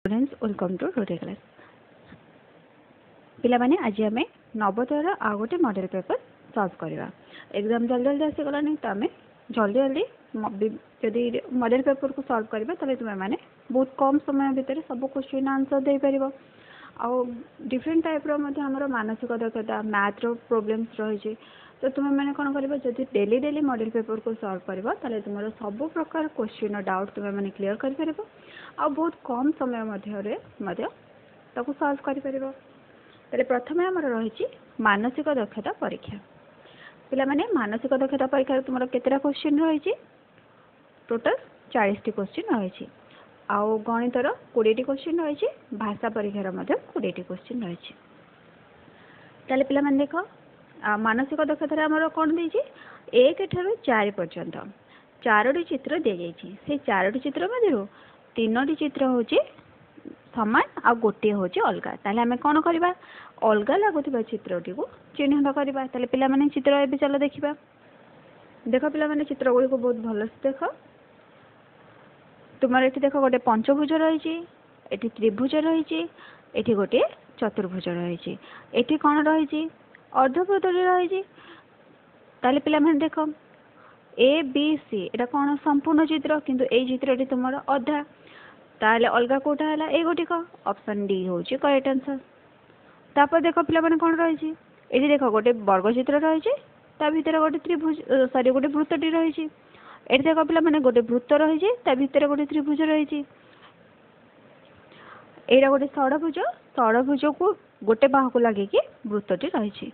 Students, welcome to Rote class. ପିଲାମାନେ, ଆଜି ଆମେ ନବୋଦୟର ଆଉ ଗୋଟେ ମଡ଼େଲ୍ ପେପର୍ ସଲ୍ଭ କରିବା। ଏକ୍ଜାମ୍ ଜଲ୍ଦି ଜଲ୍ଦି ଆସିଗଲାଣି, ତ ଆମେ ଜଲ୍ଦି ଜଲ୍ଦି ଯଦି ମଡ଼େଲ୍ ପେପର୍କୁ ସଲ୍ଭ କରିବା, ତାହେଲେ ତୁମେମାନେ ବହୁତ କମ୍ ସମୟ ଭିତରେ ସବୁ କୋଶ୍ଚିନ୍ ଆନ୍ସର୍ ଦେଇପାରିବ। ଆଉ ଡିଫରେଣ୍ଟ ଟାଇପ୍ର ମଧ୍ୟ ଆମର ମାନସିକ ଦକ୍ଷତା, ମ୍ୟାଥ୍ର ପ୍ରୋବ୍ଲେମ୍ସ ରହିଛି। ତ ତୁମେମାନେ କ'ଣ କରିବ? ଯଦି ଡେଲି ଡେଲି ମଡ଼େଲ୍ ପେପର୍କୁ ସଲ୍ଭ କରିବ, ତାହେଲେ ତୁମର ସବୁ ପ୍ରକାର କୋଶ୍ଚିନ୍ର ଡାଉଟ୍ ତୁମେମାନେ କ୍ଲିୟର୍ କରିପାରିବ ଆଉ ବହୁତ କମ୍ ସମୟ ମଧ୍ୟରେ ମଧ୍ୟ ତାକୁ ସଲ୍ଭ କରିପାରିବ। ତାହେଲେ ପ୍ରଥମେ ଆମର ରହିଛି ମାନସିକ ଦକ୍ଷତା ପରୀକ୍ଷା। ପିଲାମାନେ, ମାନସିକ ଦକ୍ଷତା ପରୀକ୍ଷାରେ ତୁମର କେତେଟା କୋଶ୍ଚିନ୍ ରହିଛି? ଟୋଟାଲ୍ 40ଟି କୋଶ୍ଚିନ୍ ରହିଛି। ଆଉ ଗଣିତର 20ଟି କୋଶ୍ଚିନ୍ ରହିଛି, ଭାଷା ପରୀକ୍ଷାର ମଧ୍ୟ 20ଟି କୋଶ୍ଚିନ୍ ରହିଛି। ତାହେଲେ ପିଲାମାନେ ଦେଖ, ମାନସିକ ଦକ୍ଷତାରେ ଆମର କ'ଣ ଦେଇଛି? 1 ଠାରୁ 4 ପର୍ଯ୍ୟନ୍ତ ଚାରୋଟି ଚିତ୍ର ଦିଆଯାଇଛି। ସେଇ ଚାରୋଟି ଚିତ୍ର ମଧ୍ୟରୁ ତିନୋଟି ଚିତ୍ର ହେଉଛି ସମାନ ଆଉ ଗୋଟିଏ ହେଉଛି ଅଲଗା। ତାହେଲେ ଆମେ କ'ଣ କରିବା? ଅଲଗା ଲାଗୁଥିବା ଚିତ୍ରଟିକୁ ଚିହ୍ନଟ କରିବା। ତାହେଲେ ପିଲାମାନେ, ଚିତ୍ର ଏବେ ଚାଲ ଦେଖିବା। ଦେଖ ପିଲାମାନେ, ଚିତ୍ର ଗୁଡ଼ିକୁ ବହୁତ ଭଲସେ ଦେଖ। ତୁମର ଏଠି ଦେଖ, ଗୋଟେ ପଞ୍ଚଭୁଜ ରହିଛି, ଏଠି ତ୍ରିଭୁଜ ରହିଛି, ଏଠି ଗୋଟିଏ ଚତୁର୍ଭୁଜ ରହିଛି, ଏଠି କ'ଣ ରହିଛି? ଅର୍ଦ୍ଧବୃତ୍ତଟି ରହିଛି। ତାହେଲେ ପିଲାମାନେ ଦେଖ, ଏ ବି ସି ଏଇଟା କ'ଣ? ସମ୍ପୂର୍ଣ୍ଣ ଚିତ୍ର। କିନ୍ତୁ ଏଇ ଚିତ୍ରଟି ତୁମର ଅଧା। ତାହେଲେ ଅଲଗା କେଉଁଟା ହେଲା? ଏଇ ଗୋଟିକ। ଅପସନ୍ ଡି ହେଉଛି କରେକ୍ଟ ଆନ୍ସର୍। ତାପରେ ଦେଖ ପିଲାମାନେ, କ'ଣ ରହିଛି ଏଠି? ଦେଖ, ଗୋଟେ ବର୍ଗ ଚିତ୍ର ରହିଛି, ତା ଭିତରେ ଗୋଟେ ତ୍ରିଭୁଜ, ସରି, ଗୋଟେ ବୃତ୍ତଟି ରହିଛି। ଏଠି ଦେଖ ପିଲାମାନେ, ଗୋଟେ ବୃତ୍ତ ରହିଛି, ତା ଭିତରେ ଗୋଟେ ତ୍ରିଭୁଜ ରହିଛି। ଏଇଟା ଗୋଟେ ଷଡ଼ଭୁଜ, ଷଡ଼ଭୁଜକୁ ଗୋଟେ ବାହୁକୁ ଲାଗିକି ବୃତ୍ତଟି ରହିଛି।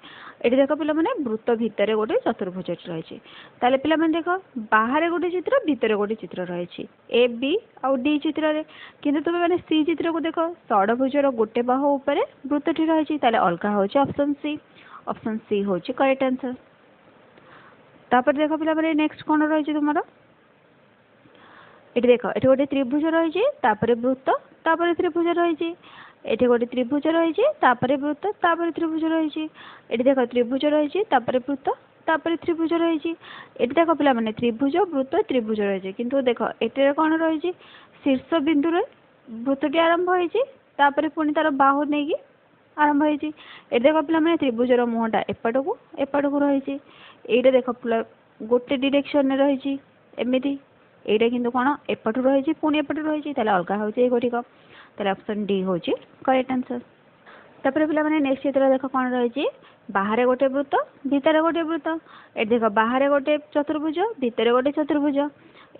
ଏଠି ଦେଖ ପିଲାମାନେ, ବୃତ୍ତ ଭିତରେ ଗୋଟେ ଚତୁର୍ଭୁଜଟି ରହିଛି। ତାହେଲେ ପିଲାମାନେ ଦେଖ, ବାହାରେ ଗୋଟେ ଚିତ୍ର, ଭିତରେ ଗୋଟେ ଚିତ୍ର ରହିଛି ଏ ବି ଆଉ ଡି ଚିତ୍ରରେ। କିନ୍ତୁ ତୁମେ ମାନେ ସି ଚିତ୍ରକୁ ଦେଖ, ଷଡ଼ଭୁଜର ଗୋଟେ ବାହୁ ଉପରେ ବୃତ୍ତଟି ରହିଛି। ତାହେଲେ ଅଲଗା ହେଉଛି ଅପସନ୍ ସି। ଅପସନ୍ ସି ହେଉଛି କରେକ୍ଟ ଆନ୍ସର୍। ତାପରେ ଦେଖ ପିଲାମାନେ, ନେକ୍ସଟ କ'ଣ ରହିଛି ତୁମର? ଏଠି ଦେଖ, ଏଠି ଗୋଟେ ତ୍ରିଭୁଜ ରହିଛି, ତାପରେ ବୃତ୍ତ, ତାପରେ ତ୍ରିଭୁଜ ରହିଛି। ଏଠି ଗୋଟେ ତ୍ରିଭୁଜ ରହିଛି, ତାପରେ ବୃତ୍ତ, ତାପରେ ତ୍ରିଭୁଜ ରହିଛି। ଏଠି ଦେଖ, ତ୍ରିଭୁଜ ରହିଛି, ତାପରେ ବୃତ୍ତ, ତାପରେ ତ୍ରିଭୁଜ ରହିଛି। ଏଠି ଦେଖ ପିଲାମାନେ, ତ୍ରିଭୁଜ, ବୃତ୍ତ, ତ୍ରିଭୁଜ ରହିଛି। କିନ୍ତୁ ଦେଖ, ଏଥିରେ କ'ଣ ରହିଛି? ଶୀର୍ଷ ବିନ୍ଦୁରେ ବୃତ୍ତଟି ଆରମ୍ଭ ହେଇଛି, ତାପରେ ପୁଣି ତାର ବାହୁ ନେଇକି ଆରମ୍ଭ ହେଇଛି। ଏଠି ଦେଖ ପିଲାମାନେ, ତ୍ରିଭୁଜର ମୁହଁଟା ଏପଟକୁ ଏପଟକୁ ରହିଛି। ଏଇଟା ଦେଖ, ଗୋଟେ ଡିରେକ୍ସନରେ ରହିଛି ଏମିତି। ଏଇଟା କିନ୍ତୁ କ'ଣ ଏପଟୁ ରହିଛି, ପୁଣି ଏପଟୁ ରହିଛି। ତାହେଲେ ଅଲଗା ହେଉଛି ଏଇ ଗୋଟିକ। ତାହେଲେ ଅପସନ୍ ଡି ହେଉଛି କରେକ୍ଟ ଆନ୍ସର୍। ତାପରେ ପିଲାମାନେ, ନେକ୍ସଟ ଚିତ୍ର ଦେଖ କ'ଣ ରହିଛି। ବାହାରେ ଗୋଟେ ବୃତ୍ତ, ଭିତରେ ଗୋଟେ ବୃତ୍ତ। ଏଠି ଦେଖ, ବାହାରେ ଗୋଟେ ଚତୁର୍ଭୁଜ, ଭିତରେ ଗୋଟେ ଚତୁର୍ଭୁଜ।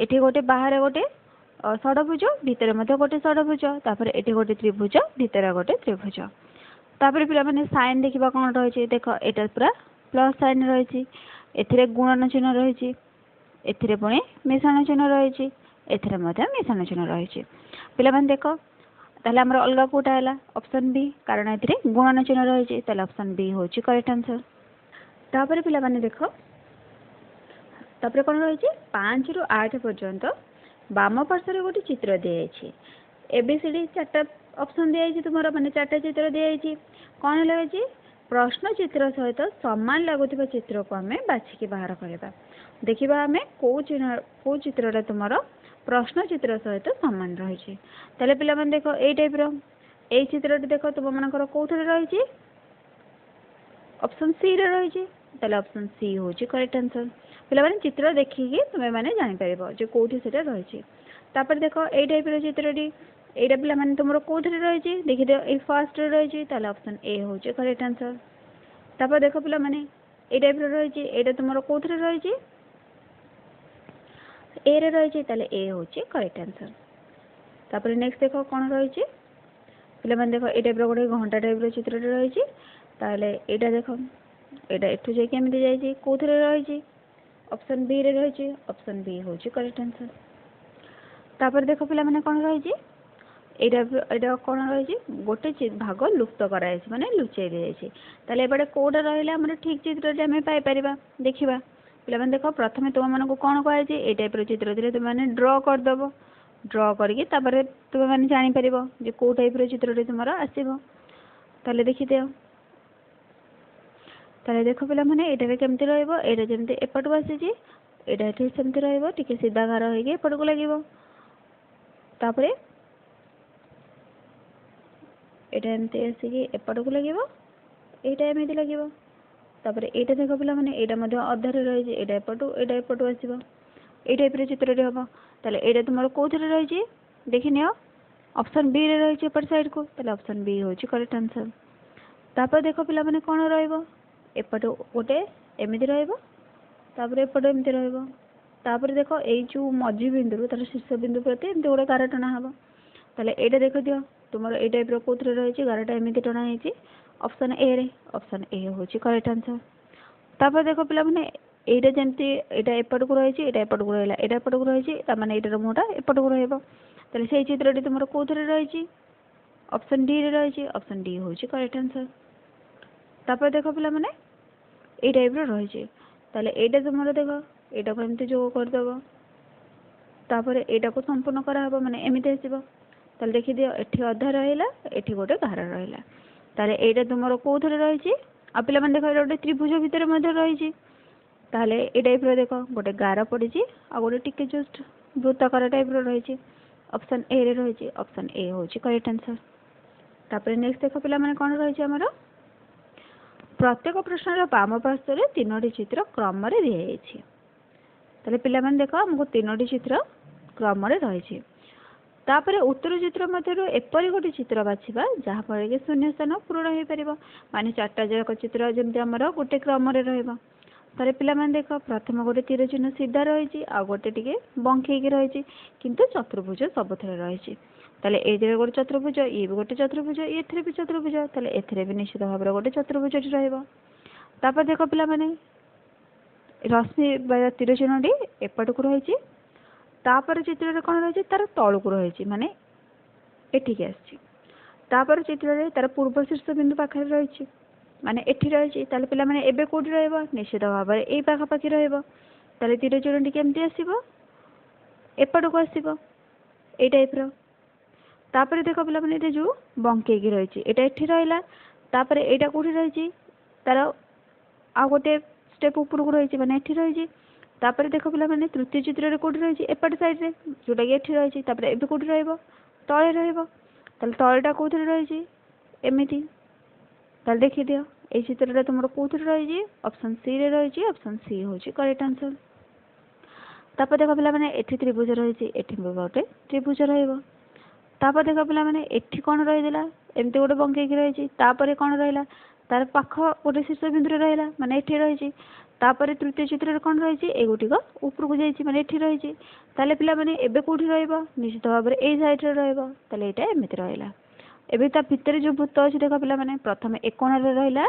ଏଠି ଗୋଟେ ବାହାରେ ଗୋଟେ ଷଡ଼ଭୁଜ, ଭିତରେ ମଧ୍ୟ ଗୋଟେ ଷଡ଼ଭୁଜ। ତାପରେ ଏଠି ଗୋଟେ ତ୍ରିଭୁଜ, ଭିତରେ ଗୋଟେ ତ୍ରିଭୁଜ। ତାପରେ ପିଲାମାନେ, ସାଇନ୍ ଦେଖିବା କ'ଣ ରହିଛି। ଦେଖ, ଏଇଟା ପୁରା ପ୍ଲସ୍ ସାଇନ୍ ରହିଛି, ଏଥିରେ ଗୁଣନ ଚିହ୍ନ ରହିଛି, ଏଥିରେ ପୁଣି ମିଶ୍ରଣ ଚିହ୍ନ ରହିଛି, ଏଥିରେ ମଧ୍ୟ ମିଶ୍ରଣ ଚିହ୍ନ ରହିଛି। ପିଲାମାନେ ଦେଖ, ତାହେଲେ ଆମର ଅଲଗା କେଉଁଟା ହେଲା? ଅପସନ୍ ବି, କାରଣ ଏଥିରେ ଗୁଣନ ଚିହ୍ନ ରହିଛି। ତାହେଲେ ଅପସନ୍ ବି ହେଉଛି କରେକ୍ଟ ଆନ୍ସର୍। ତାପରେ ପିଲାମାନେ ଦେଖ, ତାପରେ କ'ଣ ରହିଛି? 5ରୁ 8 ପର୍ଯ୍ୟନ୍ତ ବାମ ପାର୍ଶ୍ୱରେ ଗୋଟେ ଚିତ୍ର ଦିଆଯାଇଛି। ଏ ବି ସି ଡି ଚାରିଟା ଅପସନ୍ ଦିଆଯାଇଛି ତୁମର, ମାନେ ଚାରିଟା ଚିତ୍ର ଦିଆଯାଇଛି। କ'ଣ ରହିଛି? ପ୍ରଶ୍ନ ଚିତ୍ର ସହିତ ସମାନ ଲାଗୁଥିବା ଚିତ୍ରକୁ ଆମେ ବାଛିକି ବାହାର କରିବା। ଦେଖିବା ଆମେ କେଉଁ ଚିହ୍ନ, କେଉଁ ଚିତ୍ରଟା ତୁମର ପ୍ରଶ୍ନ ଚିତ୍ର ସହିତ ସମାନ ରହିଛି। ତାହେଲେ ପିଲାମାନେ ଦେଖ, ଏଇ ଟାଇପ୍ର ଏଇ ଚିତ୍ରଟି ଦେଖ, ତୁମମାନଙ୍କର କେଉଁଥିରେ ରହିଛି? ଅପସନ୍ ସିରେ ରହିଛି। ତାହେଲେ ଅପସନ୍ ସି ହେଉଛି କରେକ୍ଟ ଆନ୍ସର୍। ପିଲାମାନେ, ଚିତ୍ର ଦେଖିକି ତୁମେମାନେ ଜାଣିପାରିବ ଯେ କେଉଁଠି ସେଇଟା ରହିଛି। ତାପରେ ଦେଖ, ଏଇ ଟାଇପ୍ର ଚିତ୍ରଟି, ଏଇଟା ପିଲାମାନେ ତୁମର କେଉଁଥିରେ ରହିଛି? ଦେଖିଦିଅ, ଏଇ ଫାର୍ଷ୍ଟରେ ରହିଛି। ତାହେଲେ ଅପସନ୍ ଏ ହେଉଛି କରେକ୍ଟ ଆନ୍ସର୍। ତାପରେ ଦେଖ ପିଲାମାନେ, ଏଇ ଟାଇପ୍ର ରହିଛି, ଏଇଟା ତୁମର କେଉଁଥିରେ ରହିଛି? ଏରେ ରହିଛି। ତାହେଲେ ଏ ହେଉଛି କରେକ୍ଟ ଆନ୍ସର୍। ତାପରେ ନେକ୍ସଟ ଦେଖ କ'ଣ ରହିଛି। ପିଲାମାନେ ଦେଖ, ଏଇ ଟାଇପ୍ର ଗୋଟେ ଘଣ୍ଟା ଟାଇପ୍ର ଚିତ୍ରଟି ରହିଛି। ତାହେଲେ ଏଇଟା ଦେଖ, ଏଇଟା ଏଠୁ ଯାଇକି ଏମିତି ଯାଇଛି, କେଉଁଥିରେ ରହିଛି? ଅପସନ୍ ବିରେ ରହିଛି। ଅପସନ୍ ବି ହେଉଛି କରେକ୍ଟ ଆନ୍ସର୍। ତାପରେ ଦେଖ ପିଲାମାନେ, କ'ଣ ରହିଛି ଏଇଟା? ଏଇଟା କ'ଣ ରହିଛି? ଗୋଟେ ଭାଗ ଲୁପ୍ତ କରାଯାଇଛି, ମାନେ ଲୁଚେଇ ଦିଆଯାଇଛି। ତାହେଲେ ଏପଟେ କେଉଁଟା ରହିଲେ ଆମର ଠିକ୍ ଚିତ୍ରଟି ଆମେ ପାଇପାରିବା? ଦେଖିବା। ପିଲାମାନେ ଦେଖ, ପ୍ରଥମେ ତୁମମାନଙ୍କୁ କ'ଣ କୁହାଯାଇଛି? ଏଇ ଟାଇପ୍ର ଚିତ୍ର ଥିଲେ ତୁମେମାନେ ଡ୍ର କରିଦେବ। ଡ୍ର କରିକି ତାପରେ ତୁମେମାନେ ଜାଣିପାରିବ ଯେ କେଉଁ ଟାଇପ୍ର ଚିତ୍ରଟି ତୁମର ଆସିବ। ତାହେଲେ ଦେଖିଦିଅ। ତାହେଲେ ଦେଖ ପିଲାମାନେ, ଏଇଟାରେ କେମିତି ରହିବ? ଏଇଟା ଯେମିତି ଏପଟକୁ ଆସିଛି, ଏଇଟା ଏଠି ସେମିତି ରହିବ, ଟିକେ ସିଧା ଗାର ହେଇକି ଏପଟକୁ ଲାଗିବ। ତାପରେ ଏଇଟା ଏମିତି ଆସିକି ଏପଟକୁ ଲାଗିବ, ଏଇଟା ଏମିତି ଲାଗିବ। ତାପରେ ଏଇଟା ଦେଖ ପିଲାମାନେ, ଏଇଟା ମଧ୍ୟ ଅଧାରେ ରହିଛି, ଏଇଟା ଏପଟୁ ଏଇଟା ଏପଟୁ ଆସିବ। ଏଇ ଟାଇପ୍ର ଚିତ୍ରଟି ହେବ। ତାହେଲେ ଏଇଟା ତୁମର କେଉଁଥିରେ ରହିଛି ଦେଖିନିଅ, ଅପସନ୍ ବିରେ ରହିଛି ଏପଟ ସାଇଡ଼୍କୁ। ତାହେଲେ ଅପସନ୍ ବି ହେଉଛି କରେକ୍ଟ ଆନ୍ସର୍। ତାପରେ ଦେଖ ପିଲାମାନେ କ'ଣ ରହିବ, ଏପଟୁ ଗୋଟେ ଏମିତି ରହିବ, ତାପରେ ଏପଟେ ଏମିତି ରହିବ। ତାପରେ ଦେଖ ଏଇ ଯେଉଁ ମଝି ବିନ୍ଦୁରୁ ତାର ଶୀର୍ଷ ବିନ୍ଦୁ ପ୍ରତି ଏମିତି ଗୋଟେ ଗାର ଟଣା ହେବ। ତାହେଲେ ଏଇଟା ଦେଖିଦିଅ ତୁମର ଏଇ ଟାଇପ୍ର କେଉଁଥିରେ ରହିଛି, ଗାରଟା ଏମିତି ଟଣା ହେଇଛି ଅପସନ୍ ଏରେ। ଅପସନ୍ ଏ ହେଉଛି କରେକ୍ଟ ଆନ୍ସର୍। ତାପରେ ଦେଖ ପିଲାମାନେ, ଏଇଟା ଯେମିତି ଏଇଟା ଏପଟକୁ ରହିଛି, ଏଇଟା ଏପଟକୁ ରହିଲା, ଏଇଟା ଏପଟକୁ ରହିଛି, ତାମାନେ ଏଇଟାର ମୁହଁଟା ଏପଟକୁ ରହିବ। ତାହେଲେ ସେଇ ଚିତ୍ରଟି ତୁମର କେଉଁଥିରେ ରହିଛି, ଅପସନ୍ ଡିରେ ରହିଛି। ଅପସନ୍ ଡି ହେଉଛି କରେକ୍ଟ ଆନ୍ସର୍। ତାପରେ ଦେଖ ପିଲାମାନେ, ଏଇ ଟାଇପ୍ର ରହିଛି। ତାହେଲେ ଏଇଟା ତୁମର ଦେଖ, ଏଇଟାକୁ ଏମିତି ଯୋଗ କରିଦେବ, ତାପରେ ଏଇଟାକୁ ସମ୍ପୂର୍ଣ୍ଣ କରାହେବ, ମାନେ ଏମିତି ଆସିବ। ତାହେଲେ ଦେଖିଦିଅ ଏଠି ଅଧା ରହିଲା, ଏଠି ଗୋଟେ ଗାର ରହିଲା। ତାହେଲେ ଏଇଟା ତୁମର କେଉଁଥିରେ ରହିଛି? ଆଉ ପିଲାମାନେ ଦେଖ, ଏଇଟା ଗୋଟେ ତ୍ରିଭୁଜ ଭିତରେ ମଧ୍ୟ ରହିଛି। ତାହେଲେ ଏଇ ଟାଇପ୍ର ଦେଖ ଗୋଟେ ଗାର ପଡ଼ିଛି ଆଉ ଗୋଟେ ଟିକେ ଜଷ୍ଟ ବୃତ୍ତାକାର ଟାଇପ୍ର ରହିଛି, ଅପସନ୍ ଏରେ ରହିଛି। ଅପସନ୍ ଏ ହେଉଛି କରେକ୍ଟ ଆନ୍ସର୍। ତାପରେ ନେକ୍ସଟ ଦେଖ ପିଲାମାନେ କ'ଣ ରହିଛି ଆମର, ପ୍ରତ୍ୟେକ ପ୍ରଶ୍ନର ବାମ ପାର୍ଶ୍ୱରେ 3ଟି ଚିତ୍ର କ୍ରମରେ ଦିଆଯାଇଛି। ତାହେଲେ ପିଲାମାନେ ଦେଖ, ଆମକୁ 3ଟି ଚିତ୍ର କ୍ରମରେ ରହିଛି। ତାପରେ ଉତ୍ତର ଚିତ୍ର ମଧ୍ୟରୁ ଏପରି ଗୋଟେ ଚିତ୍ର ବାଛିବା ଯାହାଫଳରେ କି ଶୂନ୍ୟ ସ୍ଥାନ ପୂରଣ ହୋଇପାରିବ, ମାନେ 4ଟା ଯାକ ଚିତ୍ର ଯେମିତି ଆମର ଗୋଟେ କ୍ରମରେ ରହିବ। ତାହେଲେ ପିଲାମାନେ ଦେଖ, ପ୍ରଥମେ ଗୋଟେ ତୀର ଚିହ୍ନ ସିଧା ରହିଛି ଆଉ ଗୋଟେ ଟିକେ ବଙ୍କେଇକି ରହିଛି, କିନ୍ତୁ ଚତୁର୍ଭୁଜ ସବୁଥିରେ ରହିଛି। ତାହେଲେ ଏଇଥିରେ ଗୋଟେ ଚତୁର୍ଭୁଜ, ଇଏ ବି ଗୋଟେ ଚତୁର୍ଭୁଜ, ଏଥିରେ ବି ଚତୁର୍ଭୁଜ। ତାହେଲେ ଏଥିରେ ବି ନିଶ୍ଚିତ ଭାବରେ ଗୋଟେ ଚତୁର୍ଭୁଜଟି ରହିବ। ତାପରେ ଦେଖ ପିଲାମାନେ, ରଶ୍ମି ବା ତୀର ଚିହ୍ନଟି ଏପଟକୁ ରହିଛି। ତାପରେ ଚିତ୍ରରେ କ'ଣ ରହିଛି, ତାର ତଳକୁ ରହିଛି, ମାନେ ଏଠିକି ଆସିଛି। ତାପରେ ଚିତ୍ରରେ ତାର ପୂର୍ବ ଶୀର୍ଷ ବିନ୍ଦୁ ପାଖରେ ରହିଛି, ମାନେ ଏଠି ରହିଛି। ତାହେଲେ ପିଲାମାନେ ଏବେ କେଉଁଠି ରହିବ? ନିଶ୍ଚିତ ଭାବରେ ଏଇ ପାଖାପାଖି ରହିବ। ତାହେଲେ ତୀର ଚିହ୍ନଟି କେମିତି ଆସିବ? ଏପଟକୁ ଆସିବ ଏଇ ଟାଇପ୍ର। ତାପରେ ଦେଖ ପିଲାମାନେ, ଏଇଟା ଯେଉଁ ବଙ୍କେଇକି ରହିଛି ଏଇଟା ଏଠି ରହିଲା। ତାପରେ ଏଇଟା କେଉଁଠି ରହିଛି? ତାର ଆଉ ଗୋଟେ ଷ୍ଟେପ୍ ଉପରକୁ ରହିଛି, ମାନେ ଏଠି ରହିଛି। ତାପରେ ଦେଖ ପିଲାମାନେ, ତୃତୀୟ ଚିତ୍ରରେ କେଉଁଠି ରହିଛି? ଏପଟ ସାଇଡ଼୍ରେ, ଯେଉଁଟାକି ଏଠି ରହିଛି। ତାପରେ ଏବେ କେଉଁଠି ରହିବ? ତଳେ ରହିବ। ତାହେଲେ ତଳଟା କେଉଁଥିରେ ରହିଛି? ଏମିତି। ତାହେଲେ ଦେଖିଦିଅ ଏଇ ଚିତ୍ରଟା ତୁମର କେଉଁଥିରେ ରହିଛି? ଅପସନ୍ ସିରେ ରହିଛି। ଅପସନ୍ ସି ହେଉଛି କରେକ୍ଟ ଆନ୍ସର୍। ତାପରେ ଦେଖ ପିଲାମାନେ, ଏଠି ତ୍ରିଭୁଜ ରହିଛି, ଏଠି ବି ଗୋଟେ ତ୍ରିଭୁଜ ରହିବ। ତାପରେ ଦେଖ ପିଲାମାନେ, ଏଠି କ'ଣ ରହିଥିଲା? ଏମିତି ଗୋଟେ ବଙ୍କେଇକି ରହିଛି। ତାପରେ କ'ଣ ରହିଲା? ତାର ପାଖ ଗୋଟେ ଶୀର୍ଷ ବିନ୍ଦୁରେ ରହିଲା, ମାନେ ଏଠି ରହିଛି। ତାପରେ ତୃତୀୟ ଚିତ୍ରରେ କ'ଣ ରହିଛି? ଏଇ ଗୋଟିକ ଉପରକୁ ଯାଇଛି, ମାନେ ଏଠି ରହିଛି। ତାହେଲେ ପିଲାମାନେ ଏବେ କେଉଁଠି ରହିବ? ନିଶ୍ଚିତ ଭାବରେ ଏଇ ସାଇଡ଼୍ରେ ରହିବ। ତାହେଲେ ଏଇଟା ଏମିତି ରହିଲା। ଏବେ ତା ଭିତରେ ଯେଉଁ ବୃତ୍ତ ଅଛି ଦେଖ ପିଲାମାନେ, ପ୍ରଥମେ ଏ କୋଣରେ ରହିଲା,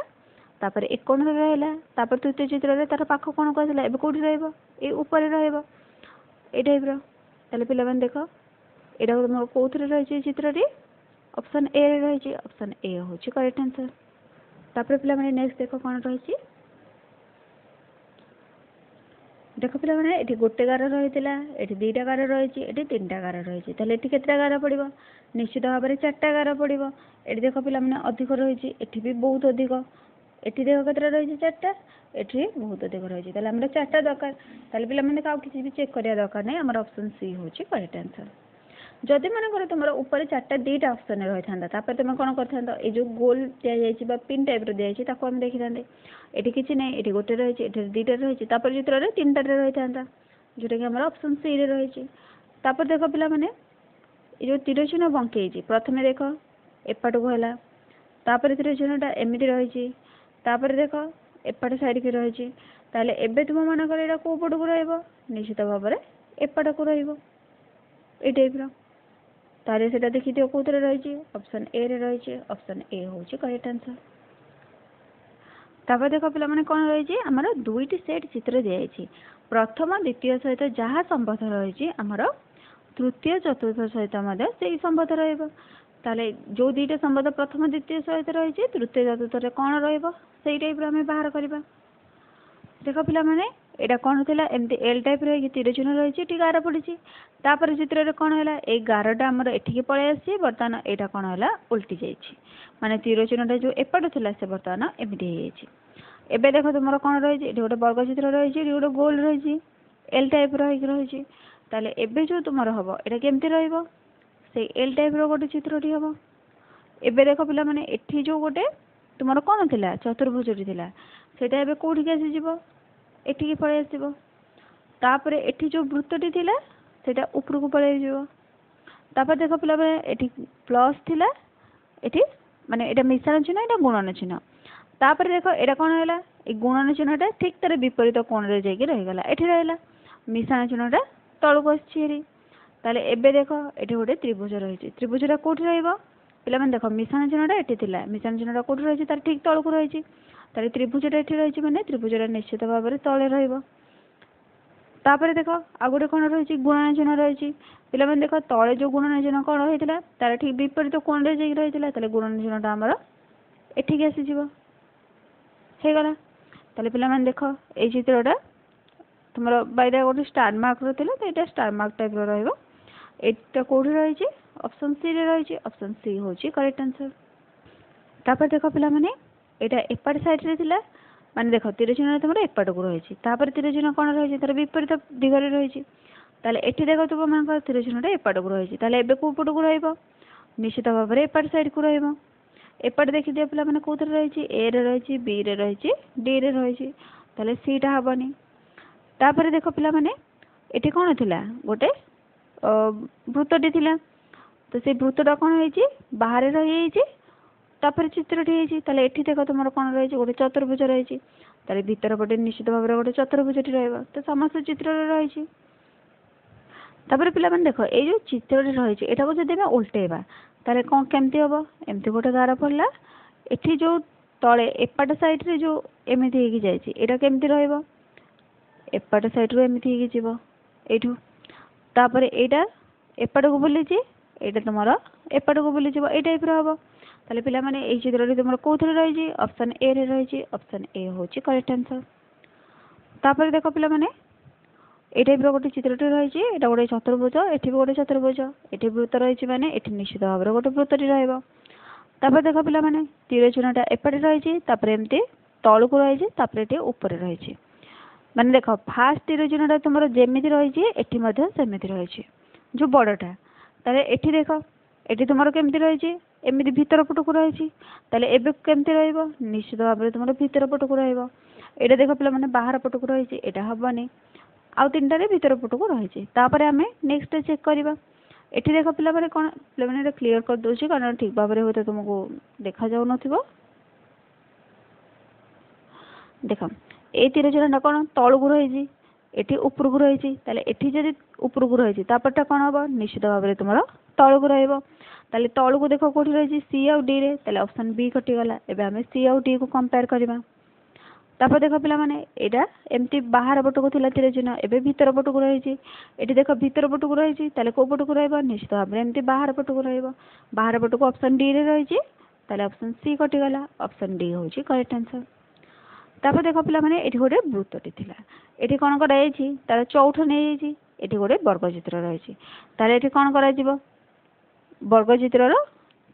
ତାପରେ ଏ କୋଣରେ ରହିଲା, ତାପରେ ତୃତୀୟ ଚିତ୍ରରେ ତାର ପାଖ କୋଣକୁ ଆସିଲା। ଏବେ କେଉଁଠି ରହିବ? ଏଇ ଉପରେ ରହିବ, ଏଇ ଟାଇପ୍ର। ତାହେଲେ ପିଲାମାନେ ଦେଖ, ଏଇଟା ତୁମର କେଉଁଥିରେ ରହିଛି ଏ ଚିତ୍ରଟି? ଅପସନ୍ ଏରେ ରହିଛି। ଅପସନ୍ ଏ ହେଉଛି କରେକ୍ଟ ଆନ୍ସର୍। ତାପରେ ପିଲାମାନେ ନେକ୍ସଟ ଦେଖ କ'ଣ ରହିଛି। ଦେଖ ପିଲାମାନେ, ଏଠି ଗୋଟେ ଗାର ରହିଥିଲା, ଏଠି 2ଟା ଗାର ରହିଛି, ଏଠି 3ଟା ଗାର ରହିଛି। ତାହେଲେ ଏଠି କେତେଟା ଗାର ପଡ଼ିବ? ନିଶ୍ଚିତ ଭାବରେ 4ଟା ଗାର ପଡ଼ିବ। ଏଠି ଦେଖ ପିଲାମାନେ ଅଧିକ ରହିଛି, ଏଠି ବି ବହୁତ ଅଧିକ। ଏଠି ଦେଖ କେତେଟା ରହିଛି? 4ଟା। ଏଠି ବହୁତ ଅଧିକ ରହିଛି। ତାହେଲେ ଆମର 4ଟା ଦରକାର। ତାହେଲେ ପିଲାମାନେ ଆଉ କିଛି ବି ଚେକ୍ କରିବା ଦରକାର ନାହିଁ, ଆମର ଅପସନ୍ ସି ହେଉଛି କରେକ୍ଟ ଆନ୍ସର୍। ଯଦି ମନେକର ତୁମର ଉପରେ 4ଟା 2ଟା ଅପସନ୍ରେ ରହିଥାନ୍ତା, ତାପରେ ତୁମେ କ'ଣ କରିଥାନ୍ତ? ଏଇ ଯେଉଁ ଗୋଲ ଦିଆଯାଇଛି ବା ପିନ୍ ଟାଇପ୍ର ଦିଆଯାଇଛି ତାକୁ ଆମେ ଦେଖିଥାନ୍ତେ। ଏଠି କିଛି ନାହିଁ, ଏଠି ଗୋଟେ ରହିଛି, ଏଠି 2ଟା ରହିଛି, ତାପରେ ଚିତ୍ରରେ 3ଟାରେ ରହିଥାନ୍ତା, ଯେଉଁଟାକି ଆମର ଅପସନ୍ ସିରେ ରହିଛି। ତାପରେ ଦେଖ ପିଲାମାନେ, ଏ ଯେଉଁ ତୀର ଚିହ୍ନ ବଙ୍କେଇଛି, ପ୍ରଥମେ ଦେଖ ଏପଟକୁ ହେଲା, ତାପରେ ତୀର ଚିହ୍ନଟା ଏମିତି ରହିଛି, ତାପରେ ଦେଖ ଏପଟ ସାଇଡ଼୍କି ରହିଛି। ତାହେଲେ ଏବେ ତୁମ ମାନଙ୍କର ଏଇଟା କେଉଁ ପଟକୁ ରହିବ? ନିଶ୍ଚିତ ଭାବରେ ଏପଟକୁ ରହିବ, ଏଇ ଟାଇପ୍ର। ତାହେଲେ ସେଇଟା ଦେଖିଦିଅ କେଉଁଥିରେ ରହିଛି? ଅପସନ୍ ଏରେ ରହିଛି। ଅପସନ୍ ଏ ହେଉଛି କରେକ୍ଟ ଆନ୍ସର୍। ତାପରେ ଦେଖ ପିଲାମାନେ କ'ଣ ରହିଛି, ଆମର 2ଟି ସେଟ୍ ଚିତ୍ର ଦିଆଯାଇଛି। ପ୍ରଥମ ଦ୍ୱିତୀୟ ସହିତ ଯାହା ସମ୍ବନ୍ଧ ରହିଛି, ଆମର ତୃତୀୟ ଚତୁର୍ଥ ସହିତ ମଧ୍ୟ ସେଇ ସମ୍ବନ୍ଧ ରହିବ। ତାହେଲେ ଯେଉଁ 2ଟା ସମ୍ବନ୍ଧ ପ୍ରଥମ ଦ୍ୱିତୀୟ ସହିତ ରହିଛି, ତୃତୀୟ ଚତୁର୍ଥରେ କ'ଣ ରହିବ, ସେଇ ଟାଇପ୍ର ଆମେ ବାହାର କରିବା। ଦେଖ ପିଲାମାନେ, ଏଇଟା କ'ଣ ଥିଲା? ଏମିତି ଏଲ୍ ଟାଇପ୍ର ହେଇକି ତୀର ଚିହ୍ନ ରହିଛି, ଏଠି ଗାର ପଡ଼ିଛି। ତାପରେ ଚିତ୍ରରେ କ'ଣ ହେଲା? ଏଇ ଗାରଟା ଆମର ଏଠିକି ପଳେଇ ଆସିଛି। ବର୍ତ୍ତମାନ ଏଇଟା କ'ଣ ହେଲା? ଓଲଟି ଯାଇଛି, ମାନେ ତୀର ଚିହ୍ନଟା ଯେଉଁ ଏପଟେ ଥିଲା ସେ ବର୍ତ୍ତମାନ ଏମିତି ହେଇଯାଇଛି। ଏବେ ଦେଖ ତୁମର କ'ଣ ରହିଛି? ଏଠି ଗୋଟେ ବର୍ଗ ଚିତ୍ର ରହିଛି, ଏଠି ଗୋଟେ ଗୋଲ ରହିଛି, ଏଲ୍ ଟାଇପ୍ର ହେଇକି ରହିଛି। ତାହେଲେ ଏବେ ଯେଉଁ ତୁମର ହେବ ଏଇଟା କେମିତି ରହିବ? ସେଇ ଏଲ୍ ଟାଇପ୍ର ଗୋଟେ ଚିତ୍ରଟି ହେବ। ଏବେ ଦେଖ ପିଲାମାନେ, ଏଠି ଯୋଉ ଗୋଟେ ତୁମର କ'ଣ ଥିଲା, ଚତୁର୍ଭୁଜଟି ଥିଲା, ସେଇଟା ଏବେ କୋଉଠିକି ଆସିଯିବ? ଏଠିକି ପଳେଇ ଆସିବ। ତାପରେ ଏଠି ଯୋଉ ବୃତ୍ତଟି ଥିଲା, ସେଇଟା ଉପରକୁ ପଳେଇ ଯିବ। ତାପରେ ଦେଖ ପିଲାମାନେ, ଏଠି ପ୍ଲସ୍ ଥିଲା, ଏଠି ମାନେ ଏଇଟା ମିଶାଣ ଚିହ୍ନ, ଏଇଟା ଗୁଣନ ଚିହ୍ନ। ତାପରେ ଦେଖ ଏଇଟା କ'ଣ ହେଲା? ଏଇ ଗୁଣନ ଚିହ୍ନଟା ଠିକ୍ ତାର ବିପରୀତ କୋଣରେ ଯାଇକି ରହିଗଲା, ଏଠି ରହିଲା। ମିଶାଣ ଚିହ୍ନଟା ତଳକୁ ଆସିଛି ହେରି। ତାହେଲେ ଏବେ ଦେଖ, ଏଠି ଗୋଟେ ତ୍ରିଭୁଜ ରହିଛି। ତ୍ରିଭୁଜଟା କୋଉଠି ରହିବ ପିଲାମାନେ? ଦେଖ, ମିଶାଣ ଚିହ୍ନଟା ଏଠି ଥିଲା। ମିଶାଣ ଚିହ୍ନଟା କୋଉଠି ରହିଛି? ତାର ଠିକ୍ ତଳକୁ ରହିଛି। ତାହେଲେ ତ୍ରିଭୁଜଟା ଏଠି ରହିଛି, ମାନେ ତ୍ରିଭୁଜଟା ନିଶ୍ଚିତ ଭାବରେ ତଳେ ରହିବ। ତାପରେ ଦେଖ, ଆଉ ଗୋଟେ କ'ଣ ରହିଛି? ଗୁଣନ ଚିହ୍ନ ରହିଛି। ପିଲାମାନେ ଦେଖ, ତଳେ ଯୋଉ ଗୁଣନ ଚିହ୍ନ କ'ଣ ରହିଥିଲା, ତାର ଠିକ୍ ବିପରୀତ କୋଣରେ ଯାଇକି ରହିଥିଲା। ତାହେଲେ ଗୁଣନ ଚିହ୍ନଟା ଆମର ଏଠିକି ଆସିଯିବ। ହେଇଗଲା। ତାହେଲେ ପିଲାମାନେ ଦେଖ, ଏଇ ଚିତ୍ରଟା ତୁମର ବାଇଟା ଗୋଟେ ଷ୍ଟାର ମାର୍କର ଥିଲା, ତ ଏଇଟା ଷ୍ଟାର ମାର୍କ ଟାଇପ୍ର ରହିବ। ଏଇଟା କୋଉଠି ରହିଛି? ଅପସନ୍ ସିରେ ରହିଛି। ଅପସନ୍ ସି ହେଉଛି କରେକ୍ଟ ଆନ୍ସର। ତାପରେ ଦେଖ ପିଲାମାନେ, ଏଇଟା ଏପଟ ସାଇଡ଼୍ରେ ଥିଲା, ମାନେ ଦେଖ, ତୀର ଚିହ୍ନଟା ତୁମର ଏପଟକୁ ରହିଛି। ତାପରେ ତୀର ଚିହ୍ନ କ'ଣ ରହିଛି? ତାର ବିପରୀତ ଦିଗରେ ରହିଛି। ତାହେଲେ ଏଠି ଦେଖ, ତୁମମାନଙ୍କର ତୀର ଚିହ୍ନଟା ଏପଟକୁ ରହିଛି। ତାହେଲେ ଏବେ କୋଉ ପଟକୁ ରହିବ? ନିଶ୍ଚିତ ଭାବରେ ଏପଟ ସାଇଡ଼୍କୁ ରହିବ। ଏପଟେ ଦେଖିଦିଅ ପିଲାମାନେ, କୋଉଥିରେ ରହିଛି? ଏରେ ରହିଛି, ବିରେ ରହିଛି, ଡିରେ ରହିଛି। ତାହେଲେ ସିଟା ହବନି। ତାପରେ ଦେଖ ପିଲାମାନେ, ଏଠି କ'ଣ ଥିଲା? ଗୋଟେ ବୃତ୍ତଟି ଥିଲା। ତ ସେଇ ବୃତ୍ତଟା କ'ଣ ହେଇଛି? ବାହାରେ ରହିଯାଇଛି। ତାପରେ ଚିତ୍ରଟି ହେଇଛି। ତାହେଲେ ଏଠି ଦେଖ, ତୁମର କ'ଣ ରହିଛି? ଗୋଟେ ଚତୁର୍ଭୁଜ ରହିଛି। ତାହେଲେ ଭିତର ପଟେ ନିଶ୍ଚିତ ଭାବରେ ଗୋଟେ ଚତୁର୍ଭୁଜଟି ରହିବ। ତ ସମସ୍ତ ଚିତ୍ରରେ ରହିଛି। ତାପରେ ପିଲାମାନେ ଦେଖ, ଏଇ ଯୋଉ ଚିତ୍ରଟି ରହିଛି, ଏଟାକୁ ଯଦି ଆମେ ଓଲଟେଇବା ତାହେଲେ କ'ଣ କେମିତି ହବ? ଏମିତି ଗୋଟେ ଗାର ପଡ଼ିଲା। ଏଠି ଯୋଉ ତଳେ ଏପଟ ସାଇଡ଼୍ରେ ଯୋଉ ଏମିତି ହେଇକି ଯାଇଛି, ଏଇଟା କେମିତି ରହିବ? ଏପଟ ସାଇଡ଼୍ରୁ ଏମିତି ହେଇକି ଯିବ ଏଇଠୁ। ତାପରେ ଏଇଟା ଏପଟକୁ ବୁଲିଛି, ଏଇଟା ତୁମର ଏପଟକୁ ବୁଲିଯିବ। ଏଇ ଟାଇପ୍ର ହବ। ତାହେଲେ ପିଲାମାନେ, ଏଇ ଚିତ୍ରଟି ତୁମର କୋଉଥିରେ ରହିଛି? ଅପସନ୍ ଏରେ ରହିଛି। ଅପସନ୍ ଏ ହେଉଛି କରେକ୍ଟ ଆନ୍ସର। ତାପରେ ଦେଖ ପିଲାମାନେ, ଏଇ ଟାଇପ୍ର ଗୋଟେ ଚିତ୍ରଟି ରହିଛି। ଏଇଟା ଗୋଟେ ଚତୁର୍ଭୁଜ, ଏଠି ବି ଗୋଟେ ଚତୁର୍ଭୁଜ, ଏଠି ବୃତ୍ତ ରହିଛି, ମାନେ ଏଠି ନିଶ୍ଚିତ ଭାବରେ ଗୋଟେ ବୃତ୍ତଟି ରହିବ। ତାପରେ ଦେଖ ପିଲାମାନେ, ତୀର ଚିହ୍ନଟା ଏପଟେ ରହିଛି, ତାପରେ ଏମିତି ତଳକୁ ରହିଛି, ତାପରେ ଏଠି ଉପରେ ରହିଛି। ମାନେ ଦେଖ, ଫାଷ୍ଟ ତୀର ଚିହ୍ନଟା ତୁମର ଯେମିତି ରହିଛି, ଏଠି ମଧ୍ୟ ସେମିତି ରହିଛି, ଯୋଉ ବଡ଼ଟା। ତାହେଲେ ଏଠି ଦେଖ, ଏଠି ତୁମର କେମିତି ରହିଛି? ଏମିତି ଭିତର ପଟକୁ ରହିଛି। ତାହେଲେ ଏବେ କେମିତି ରହିବ? ନିଶ୍ଚିତ ଭାବରେ ତୁମର ଭିତର ପଟକୁ ରହିବ। ଏଇଟା ଦେଖ ପିଲାମାନେ, ବାହାର ପଟକୁ ରହିଛି, ଏଇଟା ହବନି। ଆଉ ତିନିଟାରେ ଭିତର ପଟକୁ ରହିଛି। ତାପରେ ଆମେ ନେକ୍ସଟ ଚେକ୍ କରିବା। ଏଠି ଦେଖ ପିଲାମାନେ, କ'ଣ ପିଲାମାନେ, ଏଇଟା କ୍ଲିୟର କରିଦେଉଛି, କାରଣ ଠିକ୍ ଭାବରେ ହୁଏତ ତୁମକୁ ଦେଖାଯାଉନଥିବ। ଦେଖ, ଏଇ ତୀର ଚିହ୍ନଟା କ'ଣ ତଳକୁ ରହିଛି, ଏଠି ଉପରକୁ ରହିଛି। ତାହେଲେ ଏଠି ଯଦି ଉପରକୁ ରହିଛି, ତାପରଟା କ'ଣ ହବ? ନିଶ୍ଚିତ ଭାବରେ ତୁମର ତଳକୁ ରହିବ। ତାହେଲେ ତଳକୁ ଦେଖ କୋଉଠି ରହିଛି? ସି ଆଉ ଡିରେ। ତାହେଲେ ଅପସନ୍ ବି କଟିଗଲା। ଏବେ ଆମେ ସି ଆଉ ଡି କୁ କମ୍ପେୟାର କରିବା। ତାପରେ ଦେଖ ପିଲାମାନେ, ଏଇଟା ଏମିତି ବାହାର ପଟକୁ ଥିଲା ତୀର ଚିହ୍ନ, ଏବେ ଭିତର ପଟକୁ ରହିଛି। ଏଠି ଦେଖ, ଭିତର ପଟକୁ ରହିଛି। ତାହେଲେ କୋଉ ପଟକୁ ରହିବ? ନିଶ୍ଚିତ ଭାବରେ ଏମିତି ବାହାର ପଟକୁ ରହିବ। ବାହାର ପଟକୁ ଅପସନ୍ ଡିରେ ରହିଛି। ତାହେଲେ ଅପସନ୍ ସି କଟିଗଲା। ଅପସନ୍ ଡି ହେଉଛି କରେକ୍ଟ ଆନ୍ସର। ତାପରେ ଦେଖ ପିଲାମାନେ, ଏଠି ଗୋଟେ ବୃତ୍ତଟି ଥିଲା। ଏଠି କ'ଣ କରାଯାଇଛି? ତାର ଚଉଠ ନେଇଯାଇଛି। ଏଠି ଗୋଟେ ବର୍ଗଚିତ୍ର ରହିଛି। ତାହେଲେ ଏଠି କ'ଣ କରାଯିବ? ବର୍ଗଚିତ୍ରର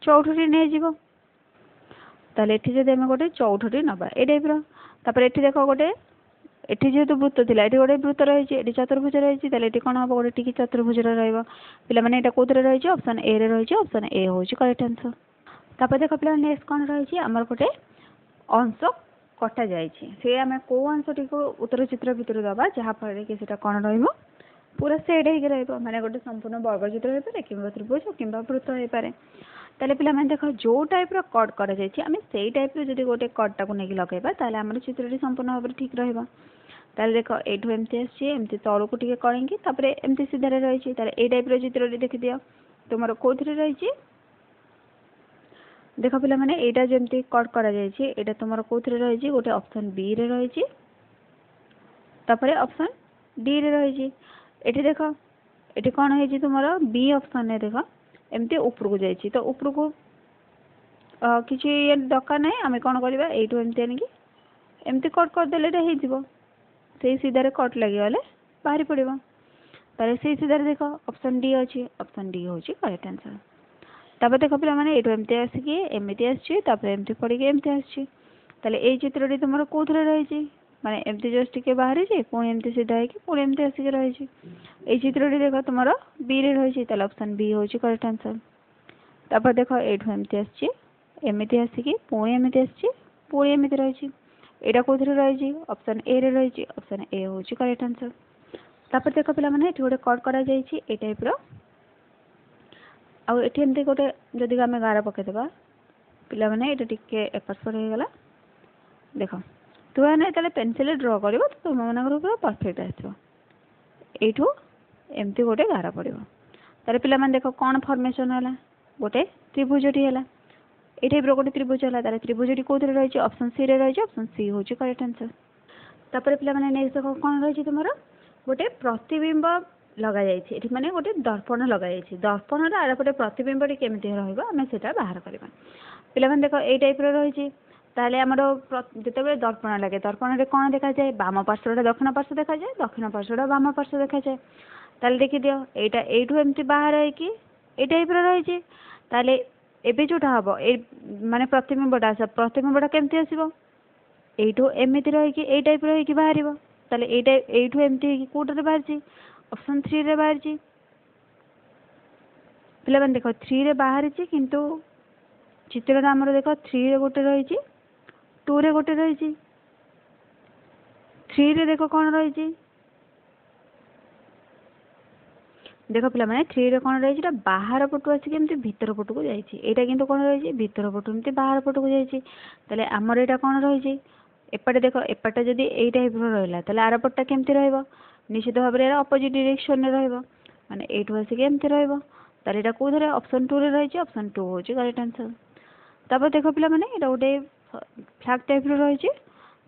ଚଉଠଟି ନେଇଯିବ। ତାହେଲେ ଏଠି ଯଦି ଆମେ ଗୋଟେ ଚଉଠଟି ନେବା ଏଇ ଟାଇପ୍ର। ତାପରେ ଏଠି ଦେଖ, ଗୋଟେ ଏଠି ଯେହେତୁ ବୃତ୍ତ ଥିଲା, ଏଠି ଗୋଟେ ବୃତ୍ତ ରହିଛି, ଏଠି ଚତୁର୍ଭୁଜ ରହିଛି। ତାହେଲେ ଏଠି କ'ଣ ହବ? ଗୋଟେ ଟିକେ ଚତୁର୍ଭୁଜର ରହିବ। ପିଲାମାନେ, ଏଇଟା କୋଉଥିରେ ରହିଛି? ଅପସନ୍ ଏରେ ରହିଛି। ଅପସନ୍ ଏ ହେଉଛି କରେକ୍ଟ ଆନ୍ସର। ତାପରେ ଦେଖ ପିଲାମାନେ, ନେକ୍ସଟ କ'ଣ ରହିଛି ଆମର? ଗୋଟେ ଅଂଶ କଟା ଯାଇଛି। ସେ ଆମେ କୋଉ ଅଂଶଟିକୁ ଉତ୍ତର ଚିତ୍ର ଭିତରୁ ଦେବା, ଯାହାଫଳରେ କି ସେଟା କ'ଣ ରହିବ? ପୁରା ସେଟ୍ ହେଇକି ରହିବ। ମାନେ ଗୋଟେ ସମ୍ପୂର୍ଣ୍ଣ ବର୍ଗଚିତ୍ର ହେଇପାରେ, କିମ୍ବା ତ୍ରିଭୁଜ, କିମ୍ବା ବୃତ୍ତ ହେଇପାରେ। ତାହେଲେ ପିଲାମାନେ ଦେଖ, ଯୋଉ ଟାଇପ୍ର କଟ୍ କରାଯାଇଛି, ଆମେ ସେଇ ଟାଇପ୍ର ଯଦି ଗୋଟେ କଟ୍ଟାକୁ ନେଇକି ଲଗେଇବା, ତାହେଲେ ଆମର ଚିତ୍ରଟି ସମ୍ପୂର୍ଣ୍ଣ ଭାବରେ ଠିକ୍ ରହିବ। ତାହେଲେ ଦେଖ, ଏଇଠୁ ଏମିତି ଆସିଛି, ଏମିତି ତଳକୁ ଟିକେ କଣେଇକି, ତାପରେ ଏମିତି ସିଧାରେ ରହିଛି। ତାହେଲେ ଏଇ ଟାଇପ୍ର ଚିତ୍ରଟି ଦେଖିଦିଅ, ତୁମର କୋଉଥିରେ ରହିଛି? ଦେଖ ପିଲାମାନେ, ଏଇଟା ଯେମିତି କଟ୍ କରାଯାଇଛି, ଏଇଟା ତୁମର କୋଉଥିରେ ରହିଛି? ଗୋଟେ ଅପସନ୍ ବିରେ ରହିଛି, ତାପରେ ଅପସନ୍ ଡିରେ ରହିଛି। ଏଠି ଦେଖ, ଏଠି କ'ଣ ହେଇଛି ତୁମର? ବି ଅପସନ୍ରେ ଦେଖ, ଏମିତି ଉପରକୁ ଯାଇଛି। ତ ଉପରକୁ କିଛି ଇଏ ଦରକାର ନାହିଁ। ଆମେ କ'ଣ କରିବା? ଏଇଠୁ ଏମିତି ଆଣିକି ଏମିତି କଟ୍ କରିଦେଲେ ଏଇଟା ହେଇଯିବ। ସେଇ ସିଧାରେ କଟ୍ ଲାଗିଗଲେ ବାହାରି ପଡ଼ିବ। ତାହେଲେ ସେଇ ସିଧାରେ ଦେଖ, ଅପସନ୍ ଡି ଅଛି। ଅପସନ୍ ଡି ହେଉଛି କରେକ୍ଟ ଆନ୍ସର। ତାପରେ ଦେଖ ପିଲାମାନେ, ଏଇଠୁ ଏମିତି ଆସିକି ଏମିତି ଆସିଛି, ତାପରେ ଏମିତି ପଡ଼ିକି ଏମିତି ଆସିଛି। ତାହେଲେ ଏଇ ଚିତ୍ରଟି ତୁମର କୋଉଥିରେ ରହିଛି? ମାନେ ଏମିତି ଜଷ୍ଟ ଟିକେ ବାହାରିଛି, ପୁଣି ଏମିତି ସିଧା ହେଇକି ପୁଣି ଏମିତି ଆସିକି ରହିଛି। ଏଇ ଚିତ୍ରଟି ଦେଖ, ତୁମର ବିରେ ରହିଛି। ତାହେଲେ ଅପସନ୍ ବି ହେଉଛି କରେକ୍ଟ ଆନ୍ସର। ତାପରେ ଦେଖ, ଏଇଠୁ ଏମିତି ଆସିଛି, ଏମିତି ଆସିକି ପୁଣି ଏମିତି ଆସିଛି, ପୁଣି ଏମିତି ରହିଛି। ଏଇଟା କେଉଁଥିରେ ରହିଛି? ଅପସନ୍ ଏରେ ରହିଛି। ଅପସନ୍ ଏ ହେଉଛି କରେକ୍ଟ ଆନ୍ସର୍। ତାପରେ ଦେଖ ପିଲାମାନେ, ଏଠି ଗୋଟେ କଟ୍ କରାଯାଇଛି ଏଇ ଟାଇପ୍ର, ଆଉ ଏଠି ଏମିତି ଗୋଟେ ଯଦି ଆମେ ଗାର ପକେଇଦେବା। ପିଲାମାନେ, ଏଇଟା ଟିକେ ଏପଟ ସେପଟ ହେଇଗଲା। ଦେଖ, ତୁମେମାନେ ଯେତେବେଳେ ପେନସିଲ୍ରେ ଡ୍ର କରିବ ତ ତୁମମାନଙ୍କର ପୁରା ପରଫେକ୍ଟ ଆସିବ। ଏଇଠୁ ଏମିତି ଗୋଟେ ଗାର ପଡ଼ିବ। ତାହେଲେ ପିଲାମାନେ ଦେଖ, କ'ଣ ଫର୍ମେସନ୍ ହେଲା? ଗୋଟେ ତ୍ରିଭୁଜଟି ହେଲା। ଏଇ ଟାଇପ୍ର ଗୋଟେ ତ୍ରିଭୁଜ ହେଲା। ତାହେଲେ ତ୍ରିଭୁଜଟି କେଉଁଥିରେ ରହିଛି? ଅପସନ୍ ସିରେ ରହିଛି। ଅପସନ୍ ସି ହେଉଛି କରେକ୍ଟ ଆନ୍ସର୍। ତାପରେ ପିଲାମାନେ ନେକ୍ସଟ ଦେଖ, କ'ଣ ରହିଛି ତୁମର? ଗୋଟେ ପ୍ରତିବିମ୍ବ ଲଗାଯାଇଛି ଏଠି, ମାନେ ଗୋଟେ ଦର୍ପଣ ଲଗାଯାଇଛି। ଦର୍ପଣର ଆରପଟେ ପ୍ରତିବିମ୍ବଟି କେମିତି ରହିବ, ଆମେ ସେଇଟା ବାହାର କରିବା। ପିଲାମାନେ ଦେଖ, ଏଇ ଟାଇପ୍ର ରହିଛି। ତାହେଲେ ଆମର ଯେତେବେଳେ ଦର୍ପଣ ଲାଗେ, ଦର୍ପଣରେ କ'ଣ ଦେଖାଯାଏ? ବାମ ପାର୍ଶ୍ୱଟା ଦକ୍ଷିଣ ପାର୍ଶ୍ୱ ଦେଖାଯାଏ, ଦକ୍ଷିଣ ପାର୍ଶ୍ୱଟା ବାମ ପାର୍ଶ୍ୱ ଦେଖାଯାଏ। ତାହେଲେ ଦେଖିଦିଅ, ଏଇଟା ଏଇଠୁ ଏମିତି ବାହାର ହେଇକି ଏଇ ଟାଇପ୍ର ରହିଛି। ତାହେଲେ ଏବେ ଯେଉଁଟା ହେବ, ଏଇ ମାନେ ପ୍ରତିବିମ୍ବଟା ଆସିବ। ପ୍ରତିବିମ୍ବଟା କେମିତି ଆସିବ? ଏଇଠୁ ଏମିତି ରହିକି ଏଇ ଟାଇପ୍ର ହେଇକି ବାହାରିବ। ତାହେଲେ ଏଇଟା ଏଇଠୁ ଏମିତି ହେଇକି କେଉଁଟାରେ ବାହାରିଛି? ଅପସନ୍ ଥ୍ରୀରେ ବାହାରିଛି। ପିଲାମାନେ ଦେଖ, ଥ୍ରୀରେ ବାହାରିଛି, କିନ୍ତୁ ଚିତ୍ରଟା ଆମର ଦେଖ, ଥ୍ରୀରେ ଗୋଟେ ରହିଛି, ଟୁରେ ଗୋଟେ ରହିଛି। ଥ୍ରୀରେ ଦେଖ କ'ଣ ରହିଛି। ଦେଖ ପିଲାମାନେ, ଥ୍ରୀରେ କ'ଣ ରହିଛି? ଏଇଟା ବାହାର ପଟୁ ଆସିକି ଏମିତି ଭିତର ପଟକୁ ଯାଇଛି। ଏଇଟା କିନ୍ତୁ କ'ଣ ରହିଛି? ଭିତର ପଟୁ ଏମିତି ବାହାର ପଟକୁ ଯାଇଛି। ତାହେଲେ ଆମର ଏଇଟା କ'ଣ ରହିଛି? ଏପଟେ ଦେଖ, ଏପଟେ ଯଦି ଏଇ ଟାଇପ୍ର ରହିଲା, ତାହେଲେ ଆର ପଟଟା କେମିତି ରହିବ? ନିଶ୍ଚିତ ଭାବରେ ଏହାର ଅପୋଜିଟ୍ ଡିରେକ୍ସନରେ ରହିବ, ମାନେ ଏଇଠୁ ଆସିକି ଏମିତି ରହିବ। ତାହେଲେ ଏଇଟା କେଉଁଥିରେ? ଅପସନ୍ ଟୁରେ ରହିଛି। ଅପସନ୍ ଟୁ ହେଉଛି କରେକ୍ଟ ଆନ୍ସର୍। ତାପରେ ଦେଖ ପିଲାମାନେ, ଏଇଟା ଗୋଟେ ଫ୍ଲାଗ୍ ଟାଇପ୍ର ରହିଛି।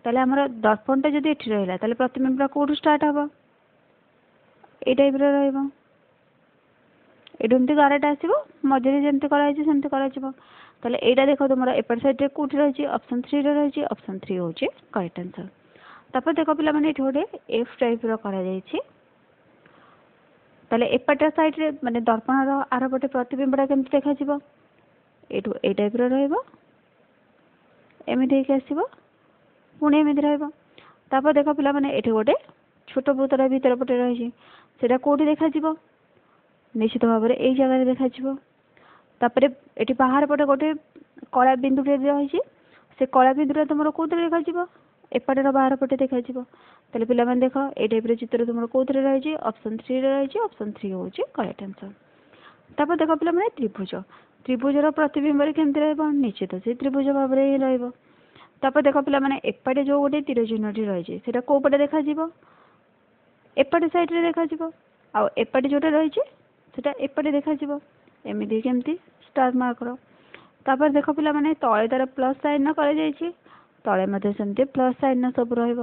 ତାହେଲେ ଆମର ଦର୍ପଣଟା ଯଦି ଏଠି ରହିଲା, ତାହେଲେ ପ୍ରତିବିମ୍ବଟା କେଉଁଠୁ ଷ୍ଟାର୍ଟ ହେବ? ଏଇ ଟାଇପ୍ର ରହିବ। ଏଇଠୁ ଏମିତି ଗାରଟା ଆସିବ, ମଝିରେ ଯେମିତି କରାହେଇଛି ସେମିତି କରାଯିବ। ତାହେଲେ ଏଇଟା ଦେଖ, ତୁମର ଏପଟ ସାଇଡ଼୍ରେ କେଉଁଠି ରହିଛି? ଅପସନ୍ ଥ୍ରୀରେ ରହିଛି। ଅପସନ୍ ଥ୍ରୀ ହେଉଛି କରେକ୍ଟ ଆନ୍ସର୍। ତାପରେ ଦେଖ ପିଲାମାନେ, ଏଠି ଗୋଟେ ଏଫ୍ ଟାଇପ୍ର କରାଯାଇଛି। ତାହେଲେ ଏପଟ ସାଇଡ଼୍ରେ, ମାନେ ଦର୍ପଣର ଆରପଟେ ପ୍ରତିବିମ୍ବଟା କେମିତି ଦେଖାଯିବ? ଏଇଠୁ ଏଇ ଟାଇପ୍ର ରହିବ, ଏମିତି ହେଇକି ଆସିବ, ପୁଣି ଏମିତି ରହିବ। ତାପରେ ଦେଖ ପିଲାମାନେ, ଏଠି ଗୋଟେ ଛୋଟ ବୃତ୍ତଟା ଭିତର ପଟେ ରହିଛି। ସେଇଟା କେଉଁଠି ଦେଖାଯିବ? ନିଶ୍ଚିତ ଭାବରେ ଏଇ ଜାଗାରେ ଦେଖାଯିବ। ତାପରେ ଏଠି ବାହାର ପଟେ ଗୋଟେ କଳା ବିନ୍ଦୁଟେ ରହିଛି। ସେ କଳା ବିନ୍ଦୁଟା ତୁମର କେଉଁଥିରେ ଦେଖାଯିବ? ଏପଟର ବାହାର ପଟେ ଦେଖାଯିବ। ତାହେଲେ ପିଲାମାନେ ଦେଖ, ଏଇ ଟାଇପ୍ର ଚିତ୍ର ତୁମର କେଉଁଥିରେ ରହିଛି? ଅପସନ୍ ଥ୍ରୀରେ ରହିଛି। ଅପସନ୍ ଥ୍ରୀ ହେଉଛି କରେକ୍ଟ ଆନ୍ସର୍। ତାପରେ ଦେଖ ପିଲାମାନେ, ତ୍ରିଭୁଜ। ତ୍ରିଭୁଜର ପ୍ରତିବିମ୍ବରେ କେମିତି ରହିବ? ନିଶ୍ଚିତ ସେ ତ୍ରିଭୁଜ ଭାବରେ ହିଁ ରହିବ। ତାପରେ ଦେଖ ପିଲାମାନେ, ଏପଟେ ଯେଉଁ ଗୋଟେ ତୀର ଚିହ୍ନଟି ରହିଛି, ସେଇଟା କେଉଁ ପଟେ ଦେଖାଯିବ? ଏପଟେ ସାଇଡ଼୍ରେ ଦେଖାଯିବ। ଆଉ ଏପଟେ ଯେଉଁଟା ରହିଛି, ସେଇଟା ଏପଟେ ଦେଖାଯିବ, ଏମିତି କେମିତି ଷ୍ଟାର ମାର୍କର। ତାପରେ ଦେଖ ପିଲାମାନେ, ତଳେ ତାର ପ୍ଲସ୍ ସାଇନ୍ କରାଯାଇଛି, ତଳେ ମଧ୍ୟ ସେମିତି ପ୍ଲସ୍ ସାଇନ୍ ସବୁ ରହିବ।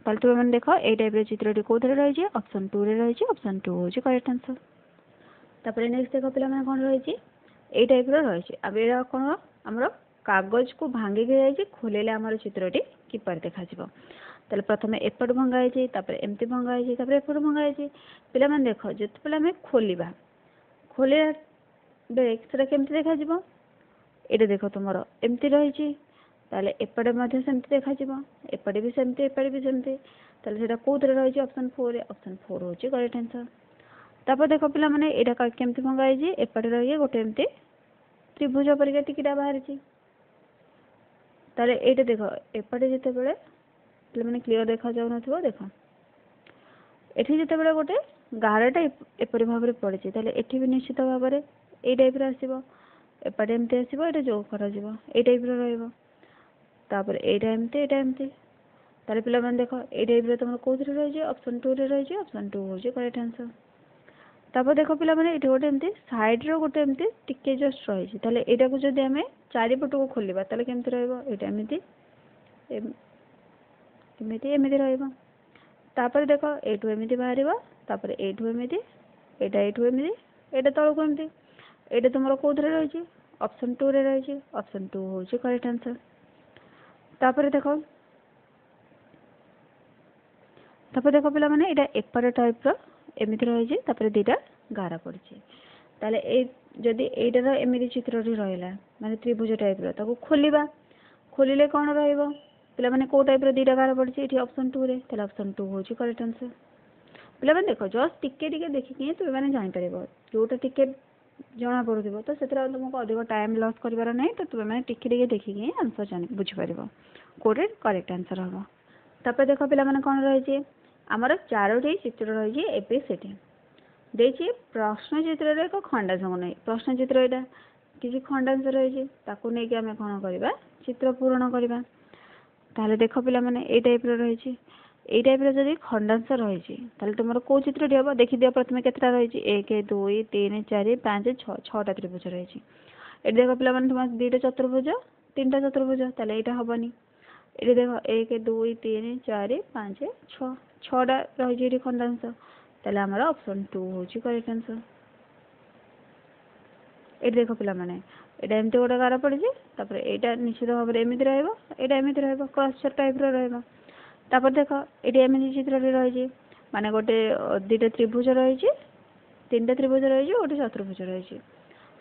ତାହେଲେ ତୁମେମାନେ ଦେଖ, ଏଇ ଟାଇପ୍ର ଚିତ୍ରଟି କେଉଁଥିରେ ରହିଛି? ଅପସନ୍ ଟୁରେ ରହିଛି। ଅପସନ୍ ଟୁ ହେଉଛି କରେକ୍ଟ ଆନ୍ସର୍। ତାପରେ ନେକ୍ସଟ ଦେଖ ପିଲାମାନେ, କ'ଣ ରହିଛି? ଏଇ ଟାଇପ୍ର ରହିଛି। ଆଉ ଏଇଟା କ'ଣ? ଆମର କାଗଜକୁ ଭାଙ୍ଗିକି ଯାଇଛି। ଖୋଲିଲେ ଆମର ଚିତ୍ରଟି କିପରି ଦେଖାଯିବ? ତାହେଲେ ପ୍ରଥମେ ଏପଟୁ ଭଙ୍ଗା ହେଇଛି, ତାପରେ ଏମିତି ଭଙ୍ଗା ହେଇଛି, ତାପରେ ଏପଟୁ ଭଙ୍ଗା ହେଇଛି। ପିଲାମାନେ ଦେଖ, ଯେତେବେଳେ ଆମେ ଖୋଲିବା, ଖୋଲିଲା ବେଳେ ସେଟା କେମିତି ଦେଖାଯିବ? ଏଇଟା ଦେଖ, ତୁମର ଏମିତି ରହିଛି। ତାହେଲେ ଏପଟେ ମଧ୍ୟ ସେମିତି ଦେଖାଯିବ, ଏପଟେ ବି ସେମିତି, ଏପଟେ ବି ସେମିତି। ତାହେଲେ ସେଇଟା କେଉଁଥିରେ ରହିଛି? ଅପସନ୍ ଫୋର୍ରେ। ଅପସନ୍ ଫୋର୍ ହେଉଛି କରେକ୍ଟ ଆନ୍ସର୍। ତାପରେ ଦେଖ ପିଲାମାନେ, ଏଇଟା କେମିତି ଭଙ୍ଗା ହେଇଛି? ଏପଟେ ରହିକି ଗୋଟେ ଏମିତି ତ୍ରିଭୁଜ ପରିକା ଟିକିଟା ବାହାରିଛି। ତାହେଲେ ଏଇଟା ଦେଖ, ଏପଟେ ଯେତେବେଳେ, ପିଲାମାନେ କ୍ଲିଅର ଦେଖାଯାଉନଥିବ, ଦେଖ, ଏଠି ଯେତେବେଳେ ଗୋଟେ ଗାରଟା ଏପରି ଭାବରେ ପଡ଼ିଛି, ତାହେଲେ ଏଠି ବି ନିଶ୍ଚିତ ଭାବରେ ଏଇ ଟାଇପ୍ର ଆସିବ। ଏପଟେ ଏମିତି ଆସିବ, ଏଇଟା ଯୋଉ କରାଯିବ, ଏଇ ଟାଇପ୍ର ରହିବ। ତାପରେ ଏଇଟା ଏମିତି, ଏଇଟା ଏମିତି। ତାହେଲେ ପିଲାମାନେ ଦେଖ, ଏଇ ଟାଇପ୍ର ତୁମର କେଉଁଥିରେ ରହିଛି? ଅପସନ୍ ଟୁରେ ରହିଛି। ଅପସନ୍ ଟୁ ହେଉଛି କରେକ୍ଟ ଆନ୍ସର୍। ତାପରେ ଦେଖ ପିଲାମାନେ, ଏଠି ଗୋଟେ ଏମିତି ସାଇଡ଼୍ର ଗୋଟେ ଏମିତି ଟିକେ ଜଷ୍ଟ ରହିଛି। ତାହେଲେ ଏଇଟାକୁ ଯଦି ଆମେ ଚାରିପଟକୁ ଖୋଲିବା, ତାହେଲେ କେମିତି ରହିବ? ଏଇଟା ଏମିତି, ଏମିତି, ଏମିତି ରହିବ। ତାପରେ ଦେଖ, ଏଇଠୁ ଏମିତି ବାହାରିବ, ତାପରେ ଏଇଠୁ ଏମିତି, ଏଇଟା ଏଇଠୁ ଏମିତି, ଏଇଟା ତଳକୁ ଏମିତି। ଏଇଟା ତୁମର କେଉଁଥିରେ ରହିଛି? ଅପସନ୍ ଟୁରେ ରହିଛି। ଅପସନ୍ ଟୁ ହେଉଛି କରେକ୍ଟ ଆନ୍ସର୍। ତାପରେ ଦେଖ, ପିଲାମାନେ, ଏଇଟା ଏପଟ ଟାଇପ୍ର ଏମିତି ରହିଛି, ତାପରେ ଦୁଇଟା ଗାର ପଡ଼ିଛି। ତାହେଲେ ଏଇ ଯଦି ଏଇଟାର ଏମିତି ଚିତ୍ରଟି ରହିଲା, ମାନେ ତ୍ରିଭୁଜ ଟାଇପ୍ର, ତାକୁ ଖୋଲିବା, ଖୋଲିଲେ କ'ଣ ରହିବ ପିଲାମାନେ? କେଉଁ ଟାଇପ୍ର ଦୁଇଟା ଗାର ପଡ଼ିଛି ଏଠି? ଅପସନ୍ ଟୁରେ। ତାହେଲେ ଅପସନ୍ ଟୁ ହେଉଛି କରେକ୍ଟ ଆନ୍ସର୍। ପିଲାମାନେ ଦେଖ, ଜଷ୍ଟ ଟିକେ ଟିକେ ଦେଖିକି ହିଁ ତୁମେମାନେ ଜାଣିପାରିବ। ଯେଉଁଟା ଟିକେ ଜଣାପଡ଼ୁଥିବ। ତ ସେଥିରେ ଆଉ ତୁମକୁ ଅଧିକ ଟାଇମ୍ ଲସ୍ କରିବାର ନାହିଁ। ତ ତୁମେମାନେ ଟିକେ ଟିକେ ଦେଖିକି ହିଁ ଆନ୍ସର୍ ଜାଣି ବୁଝିପାରିବ କେଉଁଠି କରେକ୍ଟ ଆନ୍ସର୍ ହେବ। ତାପରେ ଦେଖ ପିଲାମାନେ, କ'ଣ ରହିଛି? ଆମର ଚାରୋଟି ଚିତ୍ର ରହିଛି, ଏ ବି ସି ଡି ଦେଇଛି। ପ୍ରଶ୍ନ ଚିତ୍ରରେ ଏକ ଖଣ୍ଡାଂଶକୁ ନେଇ, ପ୍ରଶ୍ନ ଚିତ୍ର ଏଇଟା କିଛି ଖଣ୍ଡାଂଶ ରହିଛି, ତାକୁ ନେଇକି ଆମେ କ'ଣ କରିବା? ଚିତ୍ର ପୂରଣ କରିବା। ତାହେଲେ ଦେଖ ପିଲାମାନେ, ଏଇ ଟାଇପ୍ର ରହିଛି। ଏଇ ଟାଇପ୍ର ଯଦି ଖଣ୍ଡାଂଶ ରହିଛି, ତାହେଲେ ତୁମର କେଉଁ ଚିତ୍ରଟି ହେବ? ଦେଖିଦିଅ ପ୍ରଥମେ କେତେଟା ରହିଛି। 1, 2, 3, 4, 5, 6, 6ଟା ତ୍ରିଭୁଜ ରହିଛି। ଏଠି ଦେଖ ପିଲାମାନେ, ତୁମର 2ଟା ଚତୁର୍ଭୁଜ, 3ଟା ଚତୁର୍ଭୁଜ, ତାହେଲେ ଏଇଟା ହେବନି। ଏଠି ଦେଖ, 1, 2, 3, 4, 5, 6, 6ଟା ରହିଛି ଏଠି ଖଣ୍ଡାଂଶ। ତାହେଲେ ଆମର ଅପସନ୍ 2 ହେଉଛି କରେକ୍ଟ ଆନ୍ସର୍। ଏଠି ଦେଖ ପିଲାମାନେ, ଏଇଟା ଏମିତି ଗୋଟେ ଗାର ପଡ଼ିଛି। ତାପରେ ଏଇଟା ନିଶ୍ଚିତ ଭାବରେ ଏମିତି ରହିବ, ଏଇଟା ଏମିତି ରହିବ, କ୍ରସ୍ ଟାଇପ୍ର ରହିବ। ତାପରେ ଦେଖ, ଏଠି ଏମିତି ଚିତ୍ରଟି ରହିଛି, ମାନେ ଗୋଟେ 2ଟା ତ୍ରିଭୁଜ ରହିଛି, 3ଟା ତ୍ରିଭୁଜ ରହିଛି, ଗୋଟେ ଚତୁର୍ଭୁଜ ରହିଛି।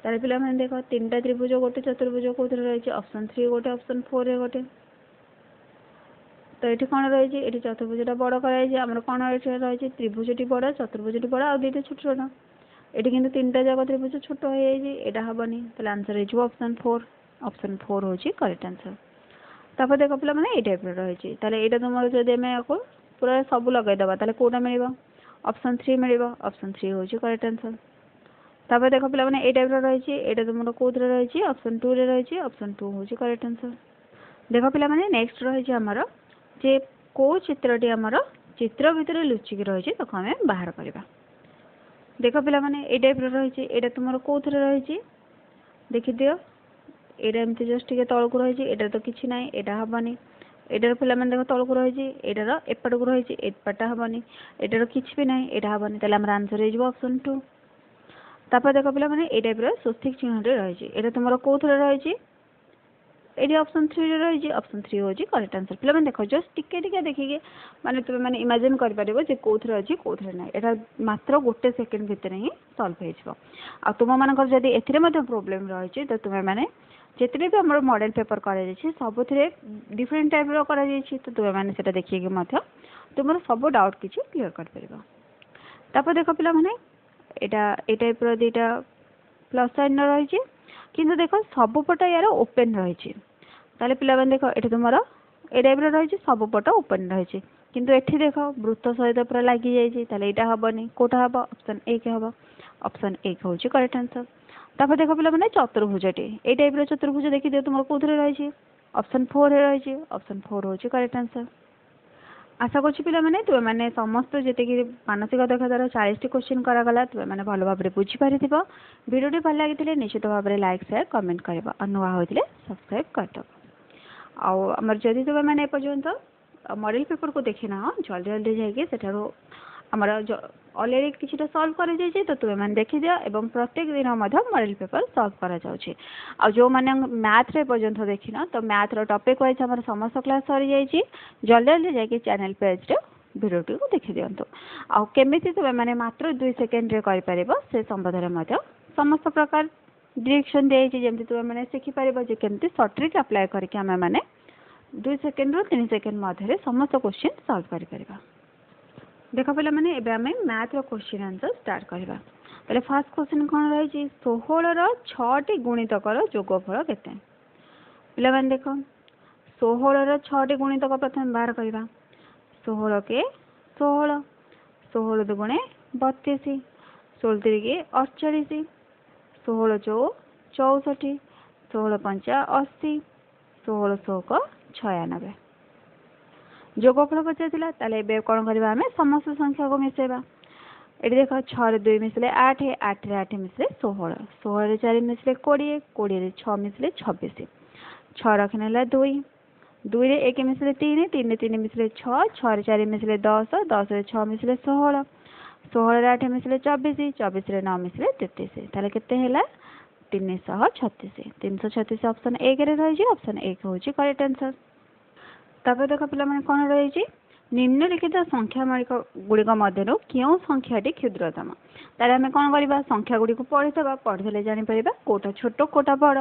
ତାହେଲେ ପିଲାମାନେ ଦେଖ, 3ଟା ତ୍ରିଭୁଜ ଗୋଟେ ଚତୁର୍ଭୁଜ କେଉଁଥିରେ ରହିଛି? ଅପସନ୍ 3 ଗୋଟେ, ଅପସନ୍ 4ରେ ଗୋଟେ। ତ ଏଠି କ'ଣ ରହିଛି? ଏଠି ଚତୁର୍ଭୁଜଟା ବଡ଼ କରାଯାଇଛି। ଆମର କ'ଣ ଏଠି ରହିଛି? ତ୍ରିଭୁଜଟି ବଡ଼, ଚତୁର୍ଭୁଜଟି ବଡ଼, ଆଉ 2ଟା ଛୋଟ ଛୋଟ। ଏଠି କିନ୍ତୁ 3ଟା ଯାକ ତ୍ରିଭୁଜ ଛୋଟ ହେଇଯାଇଛି, ଏଇଟା ହେବନି। ତାହେଲେ ଆନ୍ସର୍ ହେଇଯିବ ଅପସନ୍ 4। ଅପସନ୍ 4 ହେଉଛି କରେକ୍ଟ ଆନ୍ସର୍। ତାପରେ ଦେଖ ପିଲାମାନେ, ଏଇ ଟାଇପ୍ର ରହିଛି। ତାହେଲେ ଏଇଟା ତୁମର ଯଦି ଆମେ ୟାକୁ ପୁରା ସବୁ ଲଗାଇଦେବା, ତାହେଲେ କେଉଁଟା ମିଳିବ? ଅପସନ୍ 3 ମିଳିବ। ଅପସନ୍ 3 ହେଉଛି କରେକ୍ଟ ଆନ୍ସର୍। ତାପରେ ଦେଖ ପିଲାମାନେ, ଏଇ ଟାଇପ୍ର ରହିଛି। ଏଇଟା ତୁମର କେଉଁଥିରେ ରହିଛି? ଅପସନ୍ 2ରେ ରହିଛି। ଅପସନ୍ 2 ହେଉଛି କରେକ୍ଟ ଆନ୍ସର୍। ଦେଖ ପିଲାମାନେ, ନେକ୍ସଟ ରହିଛି ଆମର ଯେ କେଉଁ ଚିତ୍ରଟି ଆମର ଚିତ୍ର ଭିତରେ ଲୁଚିକି ରହିଛି, ତାକୁ ଆମେ ବାହାର କରିବା। ଦେଖ ପିଲାମାନେ, ଏଇ ଟାଇପ୍ର ରହିଛି। ଏଇଟା ତୁମର କେଉଁଥିରେ ରହିଛି ଦେଖିଦିଅ। ଏଇଟା ଏମିତି ଜଷ୍ଟ ଟିକେ ତଳକୁ ରହିଛି। ଏଇଟା ତ କିଛି ନାହିଁ, ଏଇଟା ହେବନି। ଏଇଟାର ପିଲାମାନେ ଦେଖ, ତଳକୁ ରହିଛି, ଏଇଟାର ଏପଟକୁ ରହିଛି, ଏପଟଟା ହେବନି। ଏଇଟାର କିଛି ବି ନାହିଁ, ଏଇଟା ହେବନି। ତାହେଲେ ଆମର ଆନ୍ସର୍ ହେଇଯିବ ଅପସନ୍ 2। ତାପରେ ଦେଖ ପିଲାମାନେ, ଏଇ ଟାଇପ୍ର ସ୍ୱସ୍ତିକ ଚିହ୍ନଟି ରହିଛି। ଏଇଟା ତୁମର କେଉଁଥିରେ ରହିଛି? ଏଇଠି ଅପସନ୍ 3ରେ ରହିଛି। ଅପସନ୍ 3 ହେଉଛି କରେକ୍ଟ ଆନ୍ସର୍। ପିଲାମାନେ ଦେଖ, ଜଷ୍ଟ ଟିକେ ଟିକେ ଦେଖିକି ମାନେ ତୁମେ ମାନେ ଇମାଜିନ୍ କରିପାରିବ ଯେ କେଉଁଥିରେ ଅଛି, କେଉଁଥିରେ ନାହିଁ। ଏଇଟା ମାତ୍ର ଗୋଟେ ସେକେଣ୍ଡ ଭିତରେ ହିଁ ସଲ୍ଭ ହେଇଯିବ। ଆଉ ତୁମମାନଙ୍କର ଯଦି ଏଥିରେ ମଧ୍ୟ ପ୍ରୋବ୍ଲେମ୍ ରହିଛି, ତ ତୁମେମାନେ ଯେତେବି ବି ଆମର ମଡ଼େଲ୍ ପେପର୍ କରାଯାଇଛି, ସବୁଥିରେ ଡିଫରେଣ୍ଟ ଟାଇପ୍ର କରାଯାଇଛି, ତ ତୁମେମାନେ ସେଇଟା ଦେଖିକି ମଧ୍ୟ ତୁମର ସବୁ ଡାଉଟ୍ କିଛି କ୍ଲିୟର୍ କରିପାରିବ। ତାପରେ ଦେଖ ପିଲାମାନେ, ଏଇଟା ଏଇ ଟାଇପ୍ର 2ଟା ପ୍ଲସ୍ ସାଇନ୍ର ରହିଛି, କିନ୍ତୁ ଦେଖ ସବୁ ପଟ ୟାର ଓପେନ୍ ରହିଛି। ତାହେଲେ ପିଲାମାନେ ଦେଖ, ଏଠି ତୁମର ଏ ଟାଇପ୍ର ରହିଛି, ସବୁ ପଟ ଓପେନ୍ ରହିଛି, କିନ୍ତୁ ଏଠି ଦେଖ ବୃତ୍ତ ସହିତ ପୁରା ଲାଗିଯାଇଛି। ତାହେଲେ ଏଇଟା ହେବନି। କେଉଁଟା ହେବ? ଅପସନ୍ 1 ହେବ। ଅପସନ୍ 1 ହେଉଛି କରେକ୍ଟ ଆନ୍ସର୍। ତାପରେ ଦେଖ ପିଲାମାନେ, ଚତୁର୍ଭୁଜଟି ଏଇ ଟାଇପ୍ର ଚତୁର୍ଭୁଜ ଦେଖିଦିଅ ତୁମର କେଉଁଥିରେ ରହିଛି? ଅପସନ୍ 4ରେ ରହିଛି। ଅପସନ୍ 4 ହେଉଛି କରେକ୍ଟ ଆନ୍ସର୍। ଆଶା କରୁଛି ପିଲାମାନେ, ତୁମେମାନେ ସମସ୍ତ ଯେତିକି ମାନସିକ ଦକ୍ଷତାର 40ଟି କୋଶ୍ଚିନ୍ କରାଗଲା, ତୁମେମାନେ ଭଲ ଭାବରେ ବୁଝିପାରିଥିବ। ଭିଡ଼ିଓଟି ଭଲ ଲାଗିଥିଲେ ନିଶ୍ଚିତ ଭାବରେ ଲାଇକ୍, ସେୟାର, କମେଣ୍ଟ କରିବ, ଆଉ ନୂଆ ହୋଇଥିଲେ ସବସ୍କ୍ରାଇବ୍ କରିଦେବ। ଆଉ ଆମର ଯଦି ତୁମେମାନେ ଏପର୍ଯ୍ୟନ୍ତ ମଡ଼େଲ୍ ପେପର୍କୁ ଦେଖିନାହ, ଜଲ୍ଦି ଜଲ୍ଦି ଯାଇକି ସେଠାରୁ ଆମର ଅଲରେଡ଼ି କିଛିଟା ସଲ୍ଭ କରାଯାଇଛି, ତ ତୁମେମାନେ ଦେଖିଦିଅ। ଏବଂ ପ୍ରତ୍ୟେକ ଦିନ ମଧ୍ୟ ମଡ଼େଲ୍ ପେପର୍ ସଲ୍ଭ କରାଯାଉଛି। ଆଉ ଯେଉଁମାନେ ମ୍ୟାଥ୍ରେ ଏପର୍ଯ୍ୟନ୍ତ ଦେଖିନ, ତ ମ୍ୟାଥ୍ର ଟପିକ୍ ୱାଇଜ୍ ଆମର ସମସ୍ତ କ୍ଲାସ୍ ସରିଯାଇଛି। ଜଲ୍ଦି ଜଲ୍ଦି ଯାଇକି ଚ୍ୟାନେଲ୍ ପେଜ୍ରେ ଭିଡ଼ିଓଟିକୁ ଦେଖିଦିଅନ୍ତୁ। ଆଉ କେମିତି ତୁମେମାନେ ମାତ୍ର 2 ସେକେଣ୍ଡରେ କରିପାରିବ, ସେ ସମ୍ବନ୍ଧରେ ମଧ୍ୟ ସମସ୍ତ ପ୍ରକାର ଡିରେକ୍ସନ୍ ଦିଆଯାଇଛି, ଯେମିତି ତୁମେମାନେ ଶିଖିପାରିବ ଯେ କେମିତି ସର୍ଟ ଟ୍ରିକ୍ ଆପ୍ଲାଏ କରିକି ଆମେମାନେ 2 ସେକେଣ୍ଡରୁ 3 ସେକେଣ୍ଡ ମଧ୍ୟରେ ସମସ୍ତ କୋଶ୍ଚିନ୍ ସଲ୍ଭ କରିପାରିବା। ଦେଖ ପିଲାମାନେ, ଏବେ ଆମେ ମ୍ୟାଥ୍ର କୋଶ୍ଚିନ୍ ଆନ୍ସର୍ ଷ୍ଟାର୍ଟ କରିବା। ତାହେଲେ ଫାର୍ଷ୍ଟ କୋଶ୍ଚିନ୍ କ'ଣ ରହିଛି? 16ର 6ଟି ଗୁଣିତକର ଯୋଗଫଳ କେତେ? ପିଲାମାନେ ଦେଖ, 16ର 6ଟି ଗୁଣିତକ ପ୍ରଥମେ ବାହାର କରିବା। 16 କେ 16, 16 ଦୁଗୁଣେ 32, 16 ତିରିକି 48, 16 ଚଉ 64, 16 ପଞ୍ଚା 80, 16 ଷୋହକ 96। ଯୋଗଫଳ ପଚାରିଥିଲା। ତାହେଲେ ଏବେ କ'ଣ କରିବା? ଆମେ ସମସ୍ତ ସଂଖ୍ୟାକୁ ମିଶାଇବା। ଏଠି ଦେଖ, 6ରେ 2 ମିଶିଲେ 8, 8ରେ 8 ମିଶିଲେ 16, 16ରେ 4 ମିଶିଲେ 20, 20ରେ 6 ମିଶିଲେ 26, 6 ରଖିନେଲା 2, 2ରେ 1 ମିଶିଲେ 3, 3ରେ 3 ମିଶିଲେ 6, 6ରେ 4 ମିଶିଲେ 10, 10ରେ 6 ମିଶିଲେ 16, 16ରେ 8 ମିଶିଲେ 24, 24ରେ 9 ମିଶିଲେ 33। ତାହେଲେ କେତେ ହେଲା? 336। 336 ଅପସନ୍ 1ରେ ରହିଛି। ଅପସନ୍ 1 ହେଉଛି କରେକ୍ଟ ଆନ୍ସର୍। ତାପରେ ଦେଖ ପିଲାମାନେ, କ'ଣ ରହିଛି? ନିମ୍ନଲିଖିତ ସଂଖ୍ୟା ଗୁଡ଼ିକ ମଧ୍ୟରୁ କେଉଁ ସଂଖ୍ୟାଟି କ୍ଷୁଦ୍ରତମ? ତାହେଲେ ଆମେ କ'ଣ କରିବା? ସଂଖ୍ୟା ଗୁଡ଼ିକୁ ପଢ଼ିଦେବା। ପଢ଼ିଦେଲେ ଜାଣିପାରିବା କେଉଁଟା ଛୋଟ, କେଉଁଟା ବଡ଼।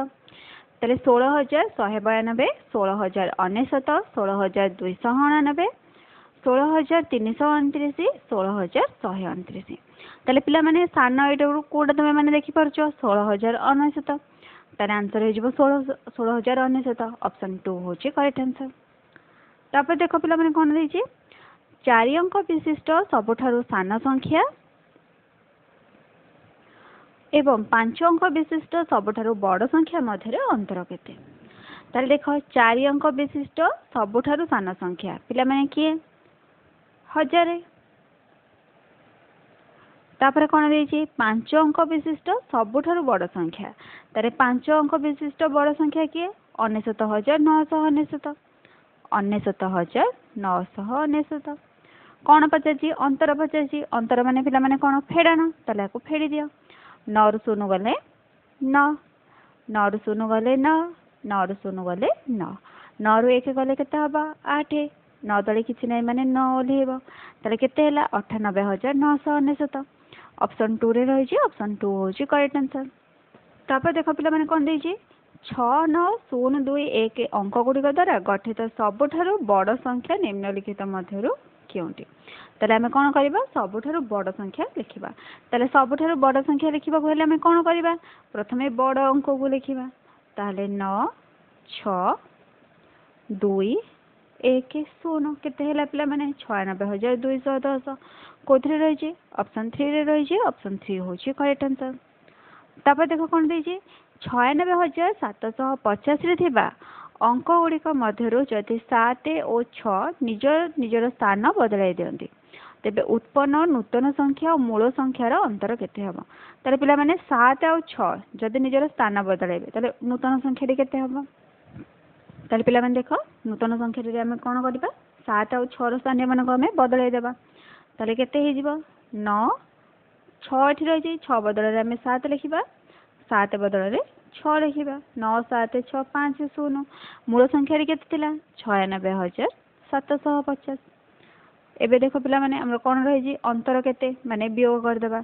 ତାହେଲେ 16,192, 16,099, 16,289, 16,329, 16,129। ତାହେଲେ ପିଲାମାନେ, ସାନ ଏଇଟାରୁ କେଉଁଟା ତୁମେ ମାନେ ଦେଖିପାରୁଛ? 16,099। ତାହେଲେ ଆନ୍ସର୍ ହେଇଯିବ 16,099। ଅପସନ୍ 2 ହେଉଛି କରେକ୍ଟ ଆନ୍ସର୍। ତାପରେ ଦେଖ ପିଲାମାନେ, କ'ଣ ଦେଇଛି? 4 ଅଙ୍କ ବିଶିଷ୍ଟ ସବୁଠାରୁ ସାନ ସଂଖ୍ୟା ଏବଂ 5 ଅଙ୍କ ବିଶିଷ୍ଟ ସବୁଠାରୁ ବଡ଼ ସଂଖ୍ୟା ମଧ୍ୟରେ ଅନ୍ତର କେତେ? ତାହେଲେ ଦେଖ, 4 ଅଙ୍କ ବିଶିଷ୍ଟ ସବୁଠାରୁ ସାନ ସଂଖ୍ୟା ପିଲାମାନେ କିଏ? 1000। ତାପରେ କ'ଣ ଦେଇଛି? 5 ଅଙ୍କ ବିଶିଷ୍ଟ ସବୁଠାରୁ ବଡ଼ ସଂଖ୍ୟା। ତାହେଲେ 5 ଅଙ୍କ ବିଶିଷ୍ଟ ବଡ଼ ସଂଖ୍ୟା କିଏ? 99,999। 99,999। କ'ଣ ପଚାରିଛି? ଅନ୍ତର ପଚାରିଛି। ଅନ୍ତର ମାନେ ପିଲାମାନେ କ'ଣ? ଫେଡ଼ାଣ। ତାହେଲେ ଆକୁ ଫେଡ଼ି ଦିଅ। 9ରୁ 0 ଗଲେ 9, 9ରୁ 0 ଗଲେ 9, 9ରୁ 0 ଗଲେ 9, 9ରୁ 1 ଗଲେ କେତେ ହେବ? 8। 9 ତଳେ କିଛି ନାହିଁ ମାନେ 9 ଓହ୍ଲେଇବ। ତାହେଲେ କେତେ ହେଲା? 98,999। ଅପସନ୍ 2ରେ ରହିଛି। ଅପସନ୍ 2 ହେଉଛି କରେକ୍ଟ ଆନ୍ସର୍। ତାପରେ ଦେଖ ପିଲାମାନେ, କ'ଣ ଦେଇଛି? 6, 9, 0, 2, 1 ଅଙ୍କ ଗୁଡ଼ିକ ଦ୍ୱାରା ଗଠିତ ସବୁଠାରୁ ବଡ଼ ସଂଖ୍ୟା ନିମ୍ନଲିଖିତ ମଧ୍ୟରୁ କେଉଁଟି? ତାହେଲେ ଆମେ କ'ଣ କରିବା? ସବୁଠାରୁ ବଡ଼ ସଂଖ୍ୟା ଲେଖିବା। ତାହେଲେ ସବୁଠାରୁ ବଡ଼ ସଂଖ୍ୟା ଲେଖିବାକୁ ହେଲେ ଆମେ କ'ଣ କରିବା? ପ୍ରଥମେ ବଡ଼ ଅଙ୍କକୁ ଲେଖିବା। ତାହେଲେ 9, 6, 2, 1, 0 କେତେ ହେଲା ପିଲାମାନେ? 96,210। କେଉଁଥିରେ ରହିଛି? ଅପସନ୍ 3ରେ ରହିଛି। ଅପସନ୍ 3 ହେଉଛି କରେକ୍ଟ ଆନ୍ସର୍। ତାପରେ ଦେଖ କ'ଣ ଦେଇଛି? 96,750ରେ ଥିବା ଅଙ୍କ ଗୁଡ଼ିକ ମଧ୍ୟରୁ ଯଦି 7 ଓ 6 ନିଜ ନିଜର ସ୍ଥାନ ବଦଳାଇ ଦିଅନ୍ତି, ତେବେ ଉତ୍ପନ୍ନ ନୂତନ ସଂଖ୍ୟା ଓ ମୂଳ ସଂଖ୍ୟାର ଅନ୍ତର କେତେ ହେବ? ତାହେଲେ ପିଲାମାନେ, 7 ଆଉ 6 ଯଦି ନିଜର ସ୍ଥାନ ବଦଳାଇବେ, ତାହେଲେ ନୂତନ ସଂଖ୍ୟାଟି କେତେ ହେବ? ତାହେଲେ ପିଲାମାନେ ଦେଖ, ନୂତନ ସଂଖ୍ୟାଟିରେ ଆମେ କ'ଣ କରିବା? 7 ଆଉ 6ର ସ୍ଥାନୀୟମାନଙ୍କୁ ଆମେ ବଦଳାଇ ଦେବା। ତାହେଲେ କେତେ ହେଇଯିବ? 9, 6 ଏଠି ରହିଛି, 6 ବଦଳରେ ଆମେ 7 ଲେଖିବା, 7 ବଦଳରେ 6 ଲେଖିବା। 9, 7, 6, 5, 0। ମୂଳ ସଂଖ୍ୟାଟି କେତେ ଥିଲା? 96,750। ଏବେ ଦେଖ ପିଲାମାନେ, ଆମର କ'ଣ ରହିଛି? ଅନ୍ତର କେତେ ମାନେ ବିୟୋଗ କରିଦେବା।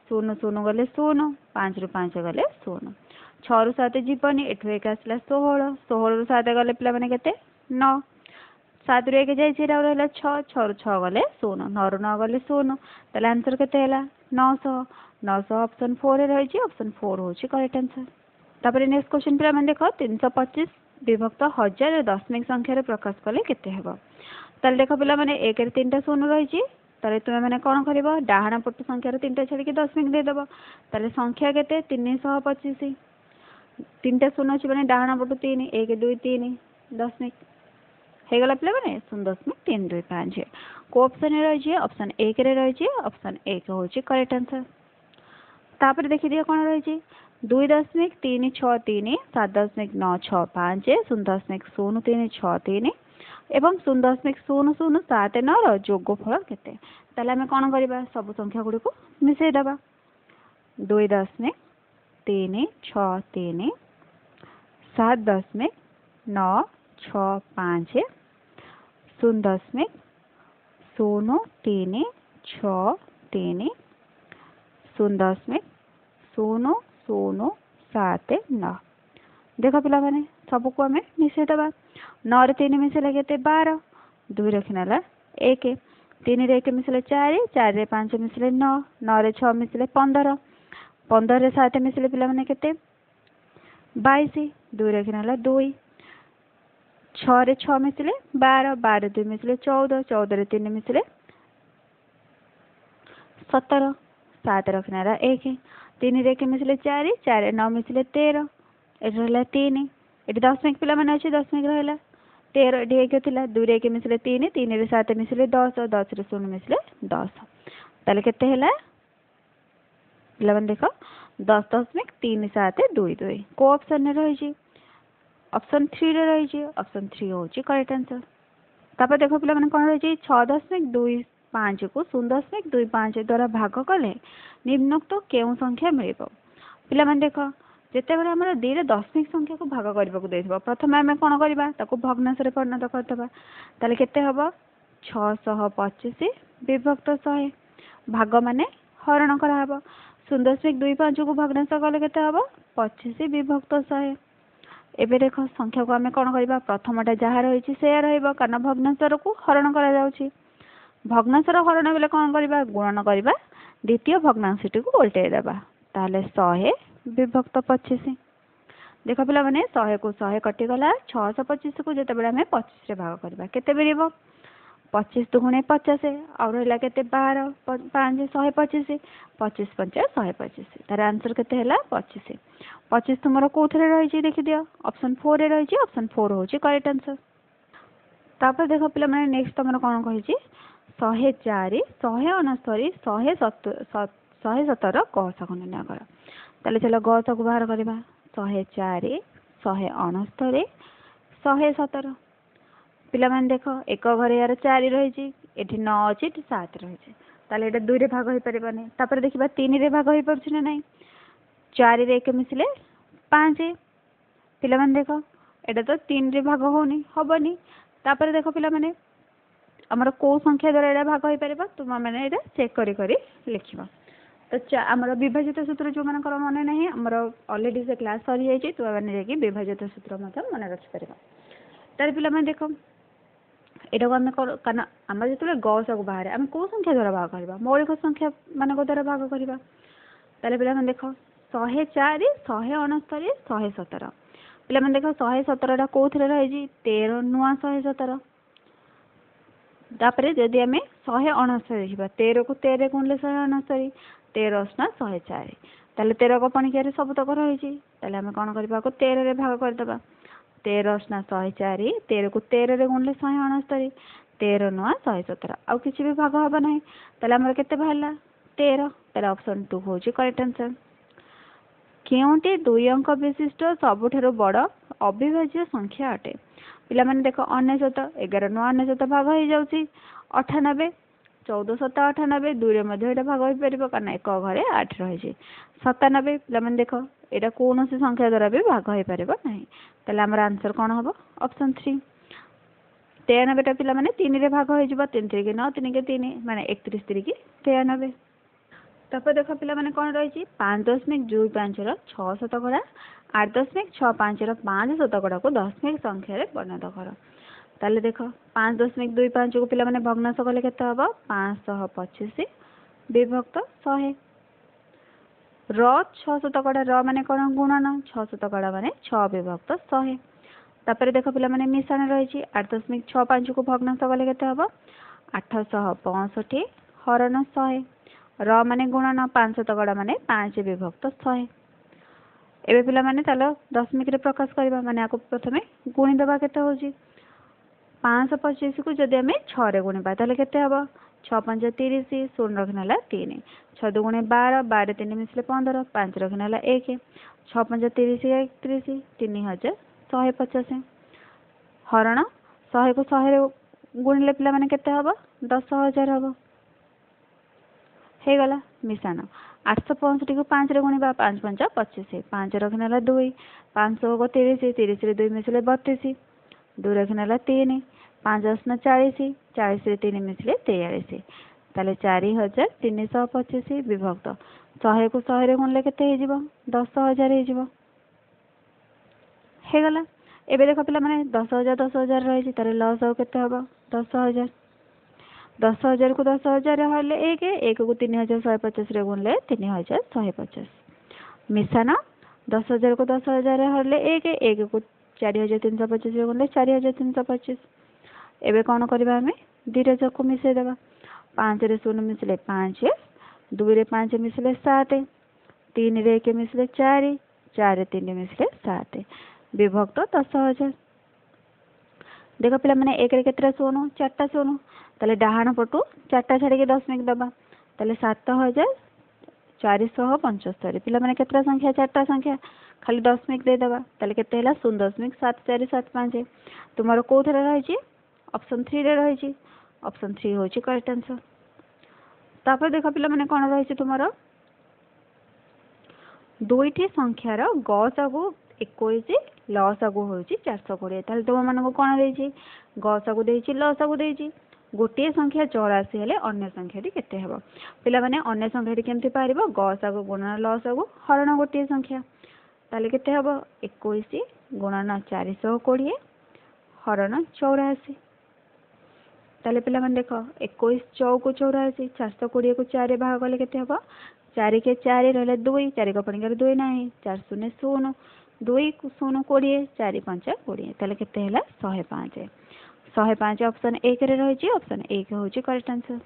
0 0 ଗଲେ 0, 5ରୁ 5 ଗଲେ 0, 6ରୁ 7 ଯିବନି, ଏଠୁ 1 ଆସିଲା 16। 16ରୁ 7 ଗଲେ ପିଲାମାନେ କେତେ? 9। 7ରୁ 1 ଯାଇଛି, ଏଇଟା ରହିଲା 6। 6ରୁ 6 ଗଲେ 0, 9ରୁ 9 ଗଲେ 0। ତାହେଲେ ଆନ୍ସର୍ କେତେ ହେଲା? 900। 900 ଅପସନ୍ 4ରେ ରହିଛି। ଅପସନ୍ 4 ହେଉଛି କରେକ୍ଟ ଆନ୍ସର୍। ତାପରେ ନେକ୍ସଟ କ୍ୱେଶ୍ଚନ୍ ପିଲାମାନେ ଦେଖ, 325 ବିଭକ୍ତ 1000 ଦଶମିକ ସଂଖ୍ୟାରେ ପ୍ରକାଶ କଲେ କେତେ ହେବ? ତାହେଲେ ଦେଖ ପିଲାମାନେ, 1ରେ 3ଟା 0 ରହିଛି। ତାହେଲେ ତୁମେ ମାନେ କ'ଣ କରିବ? ଡାହାଣ ପଟ ସଂଖ୍ୟାର 3ଟା ଛାଡ଼ିକି ଦଶମିକ ଦେଇଦେବ। ତାହେଲେ ସଂଖ୍ୟା କେତେ? 325। 3ଟା 0 ଅଛି ମାନେ ଡାହାଣ ପଟୁ 3, 1, 2, 3, ଦଶମିକ ହେଇଗଲା ପିଲାମାନେ 0.325। କେଉଁ ଅପସନ୍ରେ ରହିଛି? ଅପସନ୍ 1ରେ ରହିଛି। ଅପସନ୍ 1 ହେଉଛି କରେକ୍ଟ ଆନ୍ସର୍। ତାପରେ ଦେଖିଦିଅ କ'ଣ ରହିଛି? 2.363, 7.965, 0.0363 ଏବଂ 0.0079ର ଯୋଗଫଳ କେତେ? ତାହେଲେ ଆମେ କ'ଣ କରିବା? ସବୁ ସଂଖ୍ୟା ଗୁଡ଼ିକୁ ମିଶାଇ ଦେବା। 2.363, 7.965, 0.0363, 0.0079। ଦେଖ ପିଲାମାନେ, ସବୁକୁ ଆମେ ମିଶାଇ ଦେବା। 9ରେ 3 ମିଶାଇଲେ କେତେ? 12। 2 ରଖିନେଲା 1। 3ରେ 1 ମିଶିଲେ 4, 4ରେ 5 ମିଶିଲେ 9, 9ରେ 6 ମିଶିଲେ 15, 15ରେ 7 ମିଶିଲେ ପିଲାମାନେ କେତେ? 22। 2 ରଖିନେଲା 2। 6ରେ 6 ମିଶିଲେ 12, 12 2 ମିଶିଲେ 14, 14ରେ 3 ମିଶିଲେ 17, 7 ରଖିନେଲା 1। 3ରେ 1 ମିଶିଲେ 4, 4 9 ମିଶିଲେ 13, ଏଠି ରହିଲା 3। ଏଠି ଦଶମିକ ପିଲାମାନେ ଅଛି, ଦଶମିକ ରହିଲା। 13, ଏଠି 1 ଥିଲା, 2ରେ 1 ମିଶିଲେ 3, 3ରେ 7 ମିଶିଲେ 10, 10ରେ 0 ମିଶିଲେ 10। ତାହେଲେ କେତେ ହେଲା ପିଲାମାନେ ଦେଖ? 10.3722। କେଉଁ ଅପସନ୍ରେ ରହିଛି? ଅପସନ୍ 3ରେ ରହିଛି। ଅପସନ୍ 3 ହେଉଛି କରେକ୍ଟ ଆନ୍ସର୍। ତାପରେ ଦେଖ ପିଲାମାନେ, କ'ଣ ରହିଛି? 6.25କୁ 0.25 ଦ୍ୱାରା ଭାଗ କଲେ ନିମ୍ନୋକ୍ତ କେଉଁ ସଂଖ୍ୟା ମିଳିବ? ପିଲାମାନେ ଦେଖ, ଯେତେବେଳେ ଆମର 2ଟା ଦଶମିକ ସଂଖ୍ୟାକୁ ଭାଗ କରିବାକୁ ଦେଇଥିବ, ପ୍ରଥମେ ଆମେ କ'ଣ କରିବା? ତାକୁ ଭଗ୍ନାଂଶରେ ପରିଣତ କରିଦେବା। ତାହେଲେ କେତେ ହେବ? 625 ବିଭକ୍ତ 100। ଭାଗ ମାନେ ହରଣ କରାହେବ। 0.25କୁ ଭଗ୍ନାଂଶ କଲେ କେତେ ହେବ? 25 ବିଭକ୍ତ 100। ଏବେ ଦେଖ, ସଂଖ୍ୟାକୁ ଆମେ କ'ଣ କରିବା? ପ୍ରଥମଟା ଯାହା ରହିଛି ସେୟା ରହିବ, କାରଣ ଭଗ୍ନାଂଶକୁ ହରଣ କରାଯାଉଛି। ଭଗ୍ନାଂଶର ହରଣ ବେଲେ କ'ଣ କରିବା? ଗୁଣନ କରିବା, ଦ୍ୱିତୀୟ ଭଗ୍ନାଂଶଟିକୁ ଓଲଟେଇ ଦେବା। ତାହେଲେ 100 ବିଭକ୍ତ 25। ଦେଖ ପିଲାମାନେ, 100କୁ 100 କଟିଗଲା। 625କୁ ଯେତେବେଳେ ଆମେ 25ରେ ଭାଗ କରିବା, କେତେ ମିଳିବ? 25 ଦୁଗୁଣେ 50, ଆଉ ରହିଲା କେତେ? 12, 5, 125। 25 ପଞ୍ଚା 125। ତାର ଆନ୍ସର କେତେ ହେଲା? 25। 25 ତୁମର କେଉଁଥିରେ ରହିଛି ଦେଖିଦିଅ। ଅପସନ୍ 4ରେ ରହିଛି। ଅପସନ୍ 4 ହେଉଛି କରେକ୍ଟ ଆନ୍ସର। ତାପରେ ଦେଖ ପିଲାମାନେ, ନେକ୍ସଟ ତମର କ'ଣ କହିଛି? 104, 169, 117 ଗସାଗୁ ନିର୍ଣ୍ଣୟ କର। ତାହେଲେ ଚାଲ ଗସାଗୁ ବାହାର କରିବା। 104, 169, 117। ପିଲାମାନେ ଦେଖ, ଏକ ଘରେ ଏହାର 4 ରହିଛି, ଏଠି 9 ଅଛି, ଏଠି 7 ରହିଛି। ତାହେଲେ ଏଇଟା 2ରେ ଭାଗ ହେଇପାରିବନି। ତାପରେ ଦେଖିବା 3ରେ ଭାଗ ହେଇପାରୁଛି ନା ନାହିଁ। 4ରେ 1 ମିଶିଲେ 5। ପିଲାମାନେ ଦେଖ, ଏଇଟା ତ 3ରେ ଭାଗ ହେଉନି, ହେବନି। ତାପରେ ଦେଖ ପିଲାମାନେ, ଆମର କେଉଁ ସଂଖ୍ୟା ଦ୍ୱାରା ଏଇଟା ଭାଗ ହେଇପାରିବ? ତୁମେମାନେ ଏଇଟା ଚେକ୍ କରି କରି ଲେଖିବ। ତ ଆମର ବିଭାଜିତ ସୂତ୍ର ଯେଉଁମାନଙ୍କର ମନେ ନାହିଁ, ଆମର ଅଲରେଡ଼ି ସେ କ୍ଲାସ୍ ସରିଯାଇଛି, ତୁମେମାନେ ଯାଇକି ବିଭାଜିତ ସୂତ୍ର ମଧ୍ୟ ମନେ ରଖିପାରିବ। ତାହେଲେ ପିଲାମାନେ ଦେଖ, ଏଇଟାକୁ ଆମେ କାରଣ ଆମର ଯେତେବେଳେ ଗସାଗୁ ବାହାରେ, ଆମେ କେଉଁ ସଂଖ୍ୟା ଦ୍ୱାରା ଭାଗ କରିବା? ମୌଳିକ ସଂଖ୍ୟା ମାନଙ୍କ ଦ୍ୱାରା ଭାଗ କରିବା। ତାହେଲେ ପିଲାମାନେ ଦେଖ, 104, 169, 117। ପିଲାମାନେ ଦେଖ, 117ଟା କେଉଁଥିରେ ରହିଛି? 13 ନୂଆ 117। ତାପରେ ଯଦି ଆମେ 169 ଦେଖିବା, 13କୁ 13 ଗୁଣିଲେ 169, 13 ଅଷ୍ଟା 104। ତାହେଲେ 13 ପଣିକିଆରେ ସବୁତକ ରହିଛି। ତାହେଲେ ଆମେ କ'ଣ କରିବା? 13ରେ ଭାଗ କରିଦେବା। 13 ଅଷ୍ଟା 104, 13କୁ 13ରେ ଗୁଣିଲେ 169, 13 ନୂଆ 117। ଆଉ କିଛି ବି ଭାଗ ହେବ ନାହିଁ। ତାହେଲେ ଆମର କେତେ ବାହାରିଲା? 13। ତାହେଲେ ଅପସନ୍ 2 ହେଉଛି କରେକ୍ଟ ଆନ୍ସର। କେଉଁଟି ଦୁଇ ଅଙ୍କ ବିଶିଷ୍ଟ ସବୁଠାରୁ ବଡ଼ ଅବିଭାଜ୍ୟ ସଂଖ୍ୟା ଅଟେ? ପିଲାମାନେ ଦେଖ, 99, 11 ନୂଆ 99 ଭାଗ ହେଇଯାଉଛି। 98, 14 ସତା 98, 2ରେ ମଧ୍ୟ ଏଇଟା ଭାଗ ହେଇପାରିବ, କାରଣ ଏକ ଘରେ 8 ରହିଛି। 97, ପିଲାମାନେ ଦେଖ, ଏଇଟା କୌଣସି ସଂଖ୍ୟା ଦ୍ୱାରା ବି ଭାଗ ହେଇପାରିବ ନାହିଁ। ତାହେଲେ ଆମର ଆନ୍ସର କ'ଣ ହେବ? ଅପସନ୍ 3। 93ଟା ପିଲାମାନେ 3ରେ ଭାଗ ହେଇଯିବ। 3 ତିରିକି 9, 3 3, ମାନେ 31 ତିରିକି 93। ତାପରେ ଦେଖ ପିଲାମାନେ, କ'ଣ ରହିଛି? 5.25ର 6 ଶତକଡ଼ା, 8.65ର 5 ଶତକଡ଼ାକୁ ଦଶମିକ ସଂଖ୍ୟାରେ ପରିଣତ କର। ତାହେଲେ ଦେଖ, 5.25କୁ ପିଲାମାନେ ଭଗ୍ନାଂଶ କଲେ କେତେ ହେବ? 525 ବିଭକ୍ତ 100। ର 6 ଶତକଡ଼ା, ର ମାନେ କ'ଣ? ଗୁଣନ। 6 ଶତକଡ଼ା ମାନେ 6 ବିଭକ୍ତ 100। ତାପରେ ଦେଖ ପିଲାମାନେ, ମିଶାଣ ରହିଛି। 8.65କୁ ଭଗ୍ନାଂଶ କଲେ କେତେ ହେବ? 865 ହରଣ 100। ର ମାନେ ଗୁଣନ, 5 ଶତକଡ଼ା ମାନେ 5 ବିଭକ୍ତ 100। ଏବେ ପିଲାମାନେ ତାହେଲେ ଦଶମିକରେ ପ୍ରକାଶ କରିବା, ମାନେ ଆକୁ ପ୍ରଥମେ ଗୁଣିଦେବା। କେତେ ହେଉଛି? 525କୁ ଯଦି ଆମେ 6ରେ ଗୁଣିବା, ତାହେଲେ କେତେ ହେବ? 6 ପଞ୍ଚ 30, ଶୂନ ରଖିନେ ହେଲା 3। 6 ଦୁଗୁଣେ 12, 12 3 ମିଶିଲେ 15, 5 ରଖିନେ ହେଲା 1। 6 ପଞ୍ଚ 30, 31, 3150 ହରଣ 100କୁ 100ରେ ଗୁଣିଲେ ପିଲାମାନେ କେତେ ହେବ? 10,000 ହେବ। ହେଇଗଲା ମିଶାଣ। 865କୁ 5ରେ ଗୁଣିବା। 5 ପଞ୍ଚ 25, 5 ରଖିନେ ହେଲା 2। 5 30, 30ରେ 2 ମିଶିଲେ 32, 2 ରଖିନେ ହେଲା 3। 5 ଅଶୂନ 40, 40ରେ 3 ମିଶିଲେ 43। ତାହେଲେ 4325 ବିଭକ୍ତ 100କୁ 100ରେ ଗୁଣିଲେ କେତେ ହେଇଯିବ? 10,000 ହେଇଯିବ। ହେଇଗଲା। ଏବେ ଦେଖ ପିଲାମାନେ, 10,000 10,000 ରହିଛି। ତାହେଲେ ଲସ୍ ଆଉ କେତେ ହେବ? 10,000। 10,000କୁ 10,000 ହେଲେ 1, 1କୁ 3150ରେ ଗୁଣିଲେ 3150। ମିଶାଣ, 10,000କୁ 10,000 ହେଲେ 1, 1କୁ 4325ରେ ଗୁଣିଲେ 4325। ଏବେ କ'ଣ କରିବା ଆମେ? ଦୁଇଟା ଯାକୁ ମିଶାଇ ଦେବା। 5ରେ 0 ମିଶିଲେ 5, 2ରେ 5 ମିଶିଲେ 7, 3ରେ 1 ମିଶିଲେ 4, 4 3 ମିଶିଲେ 7, ବିଭକ୍ତ 10,000। ଦେଖ ପିଲାମାନେ, 1ରେ କେତେଟା ଶୂନ? 4ଟା ଶୂନ। ତାହେଲେ ଡାହାଣ ପଟୁ 4ଟା ଛାଡ଼ିକି ଦଶମିକ ଦେବା। ତାହେଲେ 7475। ପିଲାମାନେ, କେତେଟା ସଂଖ୍ୟା? 4ଟା ସଂଖ୍ୟା, ଖାଲି ଦଶମିକ ଦେଇଦେବା। ତାହେଲେ କେତେ ହେଲା? 0.7475। ତୁମର କେଉଁଥିରେ ରହିଛି? ଅପସନ୍ 3ରେ ରହିଛି। ଅପସନ୍ 3 ହେଉଛି କରେକ୍ଟ ଆନ୍ସର। ତାପରେ ଦେଖ ପିଲାମାନେ, କ'ଣ ରହିଛି ତୁମର? ଦୁଇଟି ସଂଖ୍ୟାର ଗସାଗୁ 21, ଲସାଗୁ ହେଉଛି 420। ତାହେଲେ ତୁମମାନଙ୍କୁ କ'ଣ ଦେଇଛି? ଗସାଗୁ ଦେଇଛି, ଲସାଗୁ ଦେଇଛି। ଗୋଟିଏ ସଂଖ୍ୟା 84 ହେଲେ ଅନ୍ୟ ସଂଖ୍ୟାଟି କେତେ ହେବ? ପିଲାମାନେ, ଅନ୍ୟ ସଂଖ୍ୟାଟି କେମିତି ବାହାରିବ? ଗସାଗୁ ଗୁଣନ ଲସାଗୁ ହରଣ ଗୋଟିଏ ସଂଖ୍ୟା। ତାହେଲେ କେତେ ହେବ? 21 ଗୁଣନ 420 ହରଣ 84। ତାହେଲେ ପିଲାମାନେ ଦେଖ, 21 ଚଉକୁ 84, 420କୁ 4 ଭାଗ କଲେ କେତେ ହେବ? 4 କେ 4, ରହିଲା 2, 4 କପଣିକାରେ 2 ନାହିଁ, 4 0 0, 2 0 20, 4 5 20। ତାହେଲେ କେତେ ହେଲା? 105। 105 ଅପସନ୍ 1ରେ ରହିଛି। ଅପସନ୍ 1 ହେଉଛି କରେକ୍ଟ ଆନ୍ସର୍।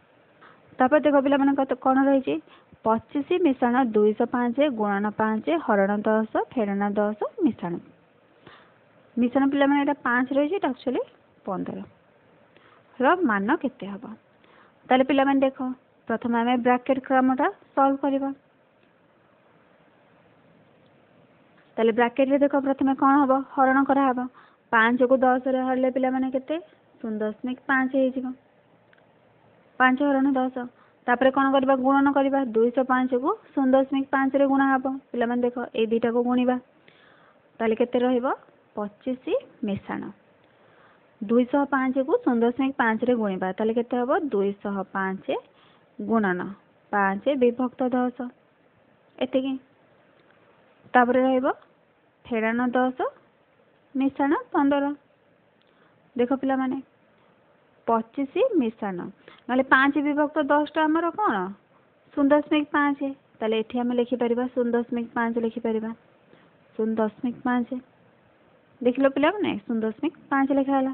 ତାପରେ ଦେଖ ପିଲାମାନଙ୍କ କ'ଣ ରହିଛି? 25 ମିଶାଣ 205 ଗୁଣନ 5 ହରଣ 10 ଫେଡ଼ାଣ 10 ମିଶାଣ ମିଶାଣ। ପିଲାମାନେ, ଏଇଟା 5 ରହିଛି, ଏଇଟା ଆକ୍ଚୁଆଲି 15 ର ମାନ କେତେ ହେବ? ତାହେଲେ ପିଲାମାନେ ଦେଖ, ପ୍ରଥମେ ଆମେ ବ୍ରାକେଟ୍ କ୍ରମଟା ସଲ୍ଭ କରିବା। ତାହେଲେ ବ୍ରାକେଟ୍ରେ ଦେଖ, ପ୍ରଥମେ କ'ଣ ହେବ? ହରଣ କରାହେବ। 5କୁ 10ରେ ହରିଲେ ପିଲାମାନେ କେତେ? 0.5 ହେଇଯିବ, 5 ହରଣ 10। ତାପରେ କ'ଣ କରିବା? ଗୁଣନ କରିବା। 205କୁ 0.5ରେ ଗୁଣା ହେବ। ପିଲାମାନେ ଦେଖ, ଏଇ ଦୁଇଟାକୁ ଗୁଣିବା, ତାହେଲେ କେତେ ରହିବ? 25 ମିଶାଣ 205କୁ 0.5ରେ ଗୁଣିବା, ତାହେଲେ କେତେ ହେବ? 205 ଗୁଣନ 5 ବିଭକ୍ତ 10, ଏତିକି। ତାପରେ ରହିବ ଫେଡ଼ାଣ 10 ମିଶାଣ 15। ଦେଖ ପିଲାମାନେ, 25 ମିଶାଣ ନହେଲେ 5 ବିଭକ୍ତ 10ଟା ଆମର କ'ଣ? 0.5। ତାହେଲେ ଏଠି ଆମେ ଲେଖିପାରିବା 0.5, ଲେଖିପାରିବା 0.5। ଦେଖିଲ ପିଲାମାନେ, 0.5 ଲେଖା ହେଲା।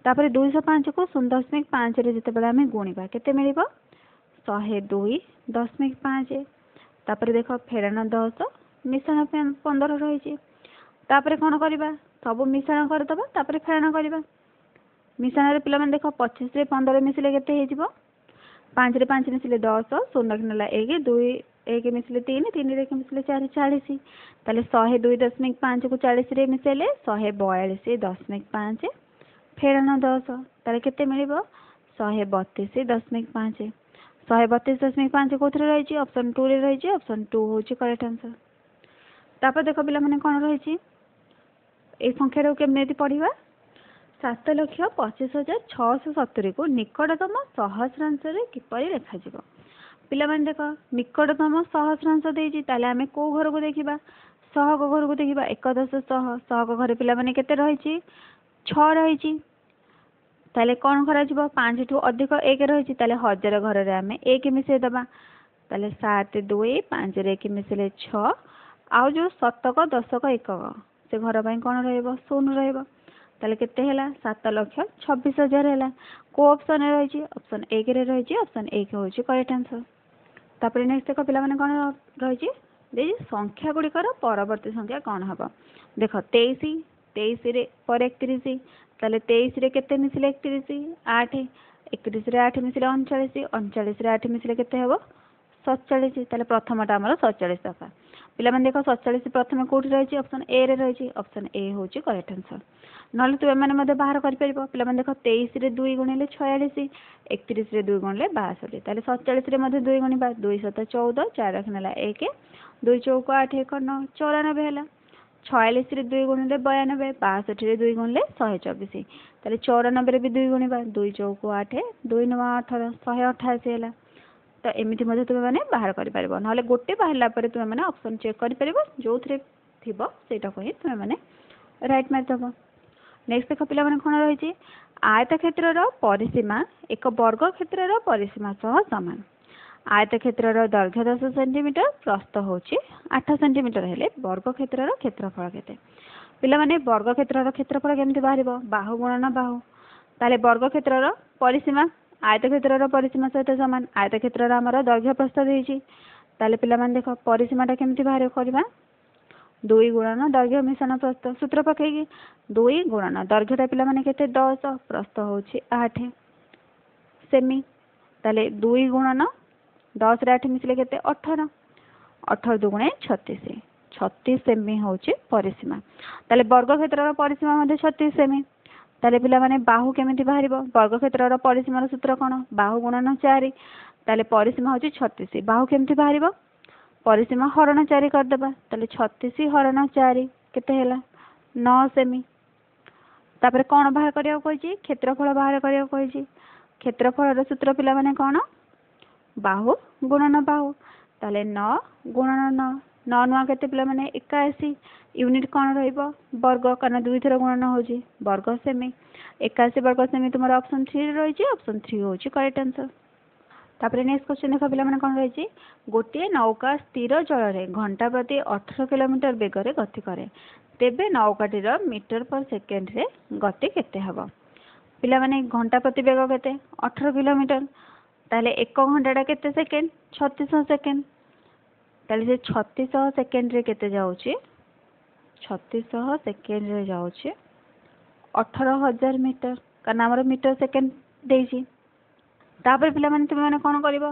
ତାପରେ 205କୁ 0.5ରେ ଯେତେବେଳେ ଆମେ ଗୁଣିବା, କେତେ ମିଳିବ? 102.5। ତାପରେ ଦେଖ, ଫେଡ଼ାଣ 10 ମିଶାଣ 15 ରହିଛି। ତାପରେ କ'ଣ କରିବା? ସବୁ ମିଶାଣ କରିଦେବା, ତାପରେ ଫେଡ଼ାଣ କରିବା। ମିଶାଣରେ ପିଲାମାନେ ଦେଖ, 25ରେ 15 ମିଶିଲେ କେତେ ହେଇଯିବ? 5ରେ 5 ମିଶିଲେ 10, 0 ନେଲା 1, 2 1 ମିଶିଲେ 3, 3ରେ 1 ମିଶିଲେ 4, 40। ତାହେଲେ 102.5କୁ 40ରେ ମିଶାଇଲେ 142.5 ଫେଡ଼ାଣ 10। ତାହେଲେ କେତେ ମିଳିବ? 132.5। 132.5 କେଉଁଥିରେ ରହିଛି? ଅପସନ୍ 2ରେ ରହିଛି। ଅପସନ୍ 2 ହେଉଛି କରେକ୍ଟ ଆନ୍ସର୍। ତାପରେ ଦେଖ ପିଲାମାନେ କ'ଣ ରହିଛି? ଏଇ ସଂଖ୍ୟାଟାକୁ କେମିତି ପଢ଼ିବା? 7,25,670କୁ ନିକଟତମ ସହସ୍ରାଂଶରେ କିପରି ଲେଖାଯିବ? ପିଲାମାନେ ଦେଖ, ନିକଟତମ ସହସ୍ରାଂଶ ଦେଇଛି, ତାହେଲେ ଆମେ କେଉଁ ଘରକୁ ଦେଖିବା? ସହକ ଘରକୁ ଦେଖିବା। 1, 10, ଶହ। ସହକ ଘରେ ପିଲାମାନେ କେତେ ରହିଛି? 6 ରହିଛି। ତାହେଲେ କ'ଣ କରାଯିବ? 5ଠୁ ଅଧିକ 1 ରହିଛି, ତାହେଲେ ହଜାର ଘରରେ ଆମେ 1 ମିଶାଇ ଦେବା। ତାହେଲେ 7 2, 5ରେ 1 ମିଶିଲେ 6। ଆଉ ଯେଉଁ ଶତକ, ଦଶକ, ଏକକ, ସେ ଘର ପାଇଁ କ'ଣ ରହିବ? 0 ରହିବ। ତାହେଲେ କେତେ ହେଲା? 7,26,000 ହେଲା। କେଉଁ ଅପସନ୍ରେ ରହିଛି? ଅପସନ୍ 1ରେ ରହିଛି। ଅପସନ୍ 1 ହେଉଛି କରେକ୍ଟ ଆନ୍ସର୍। ତାପରେ ନେକ୍ସଟ ଦେଖ ପିଲାମାନେ କ'ଣ ରହିଛି ଦେଇଛି? ସଂଖ୍ୟା ଗୁଡ଼ିକର ପରବର୍ତ୍ତୀ ସଂଖ୍ୟା କ'ଣ ହେବ? ଦେଖ, 23, 23ରେ ପରେ 31। ତାହେଲେ 23ରେ କେତେ ମିଶିଲେ 31? 8। 31ରେ 8 ମିଶିଲେ 39। 39ରେ 8 ମିଶିଲେ କେତେ ହେବ? 47। ତାହେଲେ ପ୍ରଥମଟା ଆମର 47 ଦରକାର। ପିଲାମାନେ ଦେଖ, 47 ପ୍ରଥମେ କେଉଁଠି ରହିଛି? ଅପସନ୍ ଏରେ ରହିଛି। ଅପସନ୍ ଏ ହେଉଛି କରେକ୍ଟ ଆନ୍ସର୍। ନହେଲେ ତୁମେମାନେ ମଧ୍ୟ ବାହାର କରିପାରିବ। ପିଲାମାନେ ଦେଖ, 23ରେ 2 ଗୁଣିଲେ 46, 31ରେ 2 ଗୁଣିଲେ 62। ତାହେଲେ 47ରେ ମଧ୍ୟ 2 ଗୁଣିବା। 2 7 14, 4 ରଖିନେଲା 1, 2 ଚଉକ 8, 1 9, 94 ହେଲା। 46ରେ 2 ଗୁଣିଲେ 92, 62ରେ 2 ଗୁଣିଲେ 124। ତାହେଲେ 94ରେ ବି 2 ଗୁଣିବା। 2 ଚଉକ 8, 2 9 18, 188 ହେଲା। ତ ଏମିତି ମଧ୍ୟ ତୁମେମାନେ ବାହାର କରିପାରିବ। ନହେଲେ ଗୋଟେ ବାହାରିଲା ପରେ ତୁମେମାନେ ଅପସନ୍ ଚେକ୍ କରିପାରିବ, ଯେଉଁଥିରେ ଥିବ ସେଇଟାକୁ ହିଁ ତୁମେମାନେ ରାଇଟ୍ ମାରିଦେବ। ନେକ୍ସଟ ଦେଖ ପିଲାମାନେ କ'ଣ ରହିଛି? ଆୟତକ୍ଷେତ୍ରର ପରିସୀମା ଏକ ବର୍ଗ କ୍ଷେତ୍ରର ପରିସୀମା ସହ ସମାନ। ଆୟତକ୍ଷେତ୍ରର ଦୈର୍ଘ୍ୟ 10 ସେଣ୍ଟିମିଟର, ପ୍ରସ୍ଥ ହେଉଛି 8 ସେଣ୍ଟିମିଟର ହେଲେ ବର୍ଗ କ୍ଷେତ୍ରର କ୍ଷେତ୍ରଫଳ କେତେ? ପିଲାମାନେ, ବର୍ଗ କ୍ଷେତ୍ରର କ୍ଷେତ୍ରଫଳ କେମିତି ବାହାରିବ? ବାହୁ ଗୁଣନ ବାହୁ। ତାହେଲେ ବର୍ଗ କ୍ଷେତ୍ରର ପରିସୀମା ଆୟତକ୍ଷେତ୍ରର ପରିସୀମା ସହିତ ସମାନ। ଆୟତକ୍ଷେତ୍ରର ଆମର ଦୈର୍ଘ୍ୟ ପ୍ରସ୍ଥ ଦେଇଛି। ତାହେଲେ ପିଲାମାନେ ଦେଖ, ପରିସୀମାଟା କେମିତି ବାହାର କରିବା? 2 ଗୁଣନ ଦୈର୍ଘ୍ୟ ମିଶାଣ ପ୍ରସ୍ଥ, ସୂତ୍ର ପକେଇକି। 2 ଗୁଣନ ଦୈର୍ଘ୍ୟଟା ପିଲାମାନେ କେତେ? 10, ପ୍ରସ୍ଥ ହେଉଛି 8 ସେମି। ତାହେଲେ 2 ଗୁଣନ 10ରେ 8 ମିଶିଲେ କେତେ? 18। 18 ଦୁଗୁଣେ 36, 36 ସେମି ହେଉଛି ପରିସୀମା। ତାହେଲେ ବର୍ଗ କ୍ଷେତ୍ରର ପରିସୀମା ମଧ୍ୟ 36 ସେମି। ତାହେଲେ ପିଲାମାନେ, ବାହୁ କେମିତି ବାହାରିବ? ବର୍ଗ କ୍ଷେତ୍ରର ପରିସୀମାର ସୂତ୍ର କ'ଣ? ବାହୁ ଗୁଣନ 4। ତାହେଲେ ପରିସୀମା ହେଉଛି 36, ବାହୁ କେମିତି ବାହାରିବ? ପରିସୀମା ହରଣ 4 କରିଦେବା। ତାହେଲେ 36 ହରଣ 4 କେତେ ହେଲା? 9 ସେମି। ତାପରେ କ'ଣ ବାହାର କରିବାକୁ କହିଛି? କ୍ଷେତ୍ରଫଳ ବାହାର କରିବାକୁ କହିଛି। କ୍ଷେତ୍ରଫଳର ସୂତ୍ର ପିଲାମାନେ କ'ଣ? ବାହୁ ଗୁଣନ ବାହୁ। ତାହେଲେ 9 ଗୁଣନ 9, ନଅ ନୂଆ କେତେ ପିଲାମାନେ? 81। ୟୁନିଟ୍ କ'ଣ ରହିବ? ବର୍ଗ, କାରଣ ଦୁଇଥର ଗୁଣନ ହେଉଛି, ବର୍ଗ ସେମି। 81 ବର୍ଗ ସେମି ତୁମର ଅପସନ୍ 3ରେ ରହିଛି। ଅପସନ୍ 3 ହେଉଛି କରେକ୍ଟ ଆନ୍ସର୍। ତାପରେ ନେକ୍ସଟ କ୍ୱେଶ୍ଚନ୍ ଦେଖ ପିଲାମାନେ, କ'ଣ ରହିଛି? ଗୋଟିଏ ନୌକା ସ୍ଥିର ଜଳରେ ଘଣ୍ଟା ପ୍ରତି 18 କିଲୋମିଟର ବେଗରେ ଗତି କରେ, ତେବେ ନୌକାଟିର ମିଟର ପର ସେକେଣ୍ଡରେ ଗତି କେତେ ହେବ? ପିଲାମାନେ, ଘଣ୍ଟା ପ୍ରତି ବେଗ କେତେ? 18 କିଲୋମିଟର। ତାହେଲେ ଏକ ଘଣ୍ଟାଟା କେତେ ସେକେଣ୍ଡ? 3600 ସେକେଣ୍ଡ। ତାହେଲେ ସେ 3600 ସେକେଣ୍ଡରେ କେତେ ଯାଉଛି? 3600 ସେକେଣ୍ଡରେ ଯାଉଛି 18,000 ମିଟର, କାରଣ ଆମର ମିଟର ସେକେଣ୍ଡ ଦେଇଛି। ତାପରେ ପିଲାମାନେ, ତୁମେମାନେ କ'ଣ କରିବ?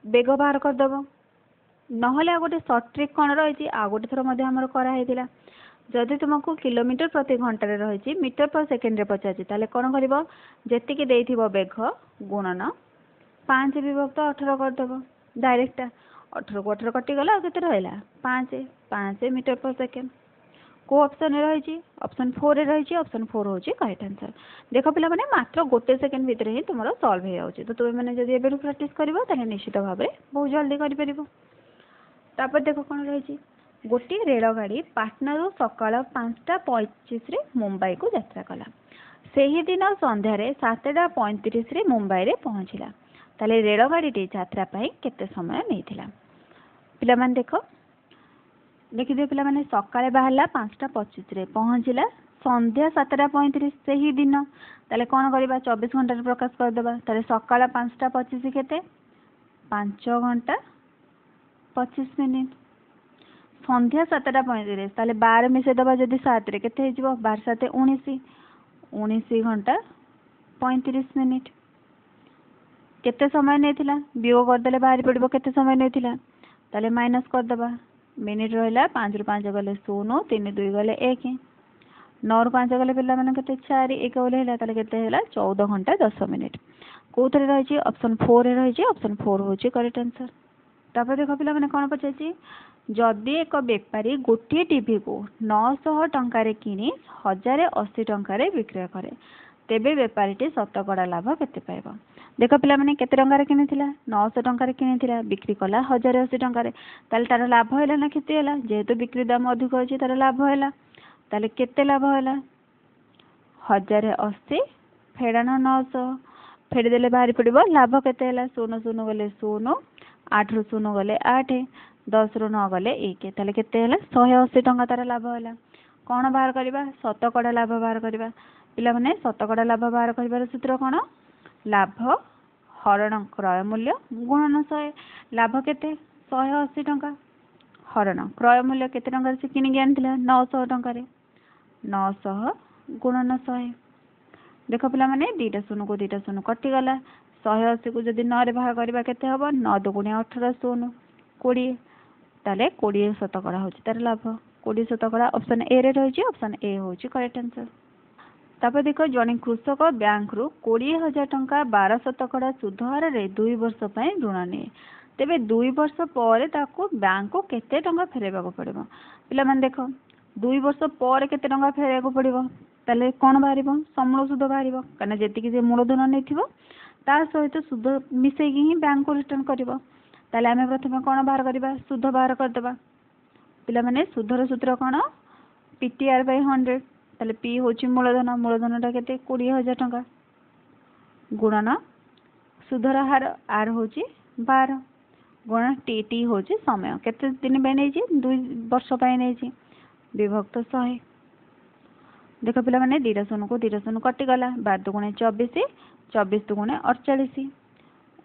ବେଗ ବାହାର କରିଦେବ। ନହେଲେ ଆଉ ଗୋଟେ ସର୍ଟ ଟ୍ରିକ୍ କ'ଣ ରହିଛି? ଆଉ ଗୋଟେ ଥର ମଧ୍ୟ ଆମର କରାହେଇଥିଲା। ଯଦି ତୁମକୁ କିଲୋମିଟର ପ୍ରତି ଘଣ୍ଟାରେ ରହିଛି, ମିଟର ପର ସେକେଣ୍ଡରେ ପଚାରିଛି, ତାହେଲେ କ'ଣ କରିବ? ଯେତିକି ଦେଇଥିବ ବେଗ ଗୁଣନ 5 ବିଭକ୍ତ 18 କରିଦେବ ଡାଇରେକ୍ଟଟା। 18କୁ 18 କଟିଗଲା, ଆଉ କେତେ ରହିଲା? 5। 5 ମିଟର ପର ସେକେଣ୍ଡ। କେଉଁ ଅପସନ୍ରେ ରହିଛି? ଅପସନ୍ 4ରେ ରହିଛି। ଅପସନ୍ 4 ହେଉଛି କରେକ୍ଟ ଆନ୍ସର୍। ଦେଖ ପିଲାମାନେ, ମାତ୍ର ଗୋଟେ ସେକେଣ୍ଡ ଭିତରେ ହିଁ ତୁମର ସଲ୍ଭ ହେଇଯାଉଛି। ତ ତୁମେମାନେ ଯଦି ଏବେଠୁ ପ୍ରାକ୍ଟିସ୍ କରିବ, ତାହେଲେ ନିଶ୍ଚିତ ଭାବରେ ବହୁତ ଜଲ୍ଦି କରିପାରିବ। ତାପରେ ଦେଖ କ'ଣ ରହିଛି। ଗୋଟିଏ ରେଳଗାଡ଼ି ପାଟନାରୁ ସକାଳ 5ଟା 25ରେ ମୁମ୍ବାଇକୁ ଯାତ୍ରା କଲା। ସେହିଦିନ ସନ୍ଧ୍ୟାରେ 7ଟା 35ରେ ମୁମ୍ବାଇରେ ପହଞ୍ଚିଲା। ତାହେଲେ ରେଳଗାଡ଼ିଟି ଯାତ୍ରା ପାଇଁ କେତେ ସମୟ ନେଇଥିଲା? ପିଲାମାନେ ଦେଖ, ଦେଖିଦିଅ ପିଲାମାନେ, ସକାଳେ ବାହାରିଲା 5ଟା 25ରେ, ପହଞ୍ଚିଲା ସନ୍ଧ୍ୟା 7ଟା 35 ସେହି ଦିନ। ତାହେଲେ କ'ଣ କରିବା? 24 ଘଣ୍ଟାରେ ପ୍ରକାଶ କରିଦେବା। ତାହେଲେ ସକାଳ 5ଟା 25 କେତେ? 5 ଘଣ୍ଟା 25 ମିନିଟ୍। ସନ୍ଧ୍ୟା 7ଟା 35, ତାହେଲେ 12 ମିଶାଇଦେବା ଯଦି 7ରେ, କେତେ ହେଇଯିବ? 12 7 19, 19 ଘଣ୍ଟା 35 ମିନିଟ୍। କେତେ ସମୟ ନେଇଥିଲା? ବିୟୋଗ କରିଦେଲେ ବାହାରି ପଡ଼ିବ କେତେ ସମୟ ନେଇଥିଲା। ତାହେଲେ ମାଇନସ୍ କରିଦେବା। ମିନିଟ୍ ରହିଲା, 5ରୁ 5 ଗଲେ 0, 3 2 ଗଲେ 1, 9ରୁ 5 ଗଲେ ପିଲାମାନେ କେତେ? 4, 1 ଗଲେ ହେଲା। ତାହେଲେ କେତେ ହେଲା? 14 ଘଣ୍ଟା 10 ମିନିଟ୍। କେଉଁଥିରେ ରହିଛି? ଅପସନ୍ 4ରେ ରହିଛି। ଅପସନ୍ 4 ହେଉଛି କରେକ୍ଟ ଆନ୍ସର୍। ତାପରେ ଦେଖ ପିଲାମାନେ, କ'ଣ ପଚାରିଛି? ଯଦି ଏକ ବେପାରୀ ଗୋଟିଏ ଟିଭିକୁ 900 ଟଙ୍କାରେ କିଣି 1080 ଟଙ୍କାରେ ବିକ୍ରୟ କରେ, ତେବେ ବେପାରୀଟି ଶତକଡ଼ା ଲାଭ କେତେ ପାଇବ? ଦେଖ ପିଲାମାନେ, କେତେ ଟଙ୍କାରେ କିଣିଥିଲା? 900 ଟଙ୍କାରେ କିଣିଥିଲା, ବିକ୍ରି କଲା 1080 ଟଙ୍କାରେ। ତାହେଲେ ତାର ଲାଭ ହେଲା ନା କ୍ଷତି ହେଲା? ଯେହେତୁ ବିକ୍ରି ଦାମ ଅଧିକ ଅଛି, ତାର ଲାଭ ହେଲା। ତାହେଲେ କେତେ ଲାଭ ହେଲା? 1080 ଫେଡ଼ାଣ 900। ଫେଡ଼ିଦେଲେ ବାହାରି ପଡ଼ିବ ଲାଭ କେତେ ହେଲା। 0 0 ଗଲେ 0, 8ରୁ 0 ଗଲେ 8, 10ରୁ 9 ଗଲେ 1। ତାହେଲେ କେତେ ହେଲା? 180 ଟଙ୍କା ତାର ଲାଭ ହେଲା। କ'ଣ ବାହାର କରିବା? ଶତକଡ଼ା ଲାଭ ବାହାର କରିବା। ପିଲାମାନେ, ଶତକଡ଼ା ଲାଭ ବାହାର କରିବାର ସୂତ୍ର କ'ଣ? ଲାଭ ହରଣ କ୍ରୟ ମୂଲ୍ୟ ଗୁଣନ 100। ଲାଭ କେତେ? 180 ଟଙ୍କା। ହରଣ କ୍ରୟ ମୂଲ୍ୟ କେତେ ଟଙ୍କାରେ ସେ କିଣିକି ଆଣିଥିଲା? 900 ଟଙ୍କାରେ। 900 ଗୁଣନ 100। ଦେଖ ପିଲାମାନେ, 2ଟା 0କୁ 2ଟା 0 କଟିଗଲା। 180କୁ ଯଦି 9ରେ ଭାଗ କରିବା କେତେ ହେବ? 9 ଦୁଗୁଣେ 18, 0, 20। ତାହେଲେ 20 ଶତକଡ଼ା ହେଉଛି ତାର ଲାଭ। 20 ଶତକଡ଼ା ଅପସନ୍ ଏରେ ରହିଛି। ଅପସନ୍ ଏ ହେଉଛି କରେକ୍ଟ ଆନ୍ସର୍। ତାପରେ ଦେଖ, ଜଣେ କୃଷକ ବ୍ୟାଙ୍କରୁ 20,000 ଟଙ୍କା 12 ଶତକଡ଼ା ସୁଧ ହାରରେ 2 ବର୍ଷ ପାଇଁ ଋଣ ନିଏ। ତେବେ 2 ବର୍ଷ ପରେ ତାକୁ ବ୍ୟାଙ୍କକୁ କେତେ ଟଙ୍କା ଫେରାଇବାକୁ ପଡ଼ିବ? ପିଲାମାନେ ଦେଖ, 2 ବର୍ଷ ପରେ କେତେ ଟଙ୍କା ଫେରାଇବାକୁ ପଡ଼ିବ? ତାହେଲେ କ'ଣ ବାହାରିବ? ସମୂଳ ସୁଧ ବାହାରିବ, କାହିଁକିନା ଯେତିକି ସେ ମୂଳଧନ ନେଇଥିବ, ତା ସହିତ ସୁଧ ମିଶେଇକି ହିଁ ବ୍ୟାଙ୍କକୁ ରିଟର୍ଣ୍ଣ କରିବ। ତାହେଲେ ଆମେ ପ୍ରଥମେ କ'ଣ ବାହାର କରିବା? ସୁଧ ବାହାର କରିଦେବା। ପିଲାମାନେ, ସୁଧର ସୂତ୍ର କ'ଣ? PTR ବାଇ 100। ତାହେଲେ ପି ହେଉଛି ମୂଳଧନ। ମୂଳଧନଟା କେତେ? 20,000 ଟଙ୍କା। ଗୁଣନ ସୁଧର ହାର, ଆର୍ ହେଉଛି 12, ଗୁଣ ଟି। ଟି ହେଉଛି ସମୟ। କେତେ ଦିନ ପାଇଁ ନେଇଛି? 2 ବର୍ଷ ପାଇଁ ନେଇଛି। ବିଭକ୍ତ 100। ଦେଖ ପିଲାମାନେ, 2ଟା 0କୁ 2ଟା 0 କଟିଗଲା। 12 ଦୁଗୁଣେ 24, 24 ଦୁଗୁଣେ 48।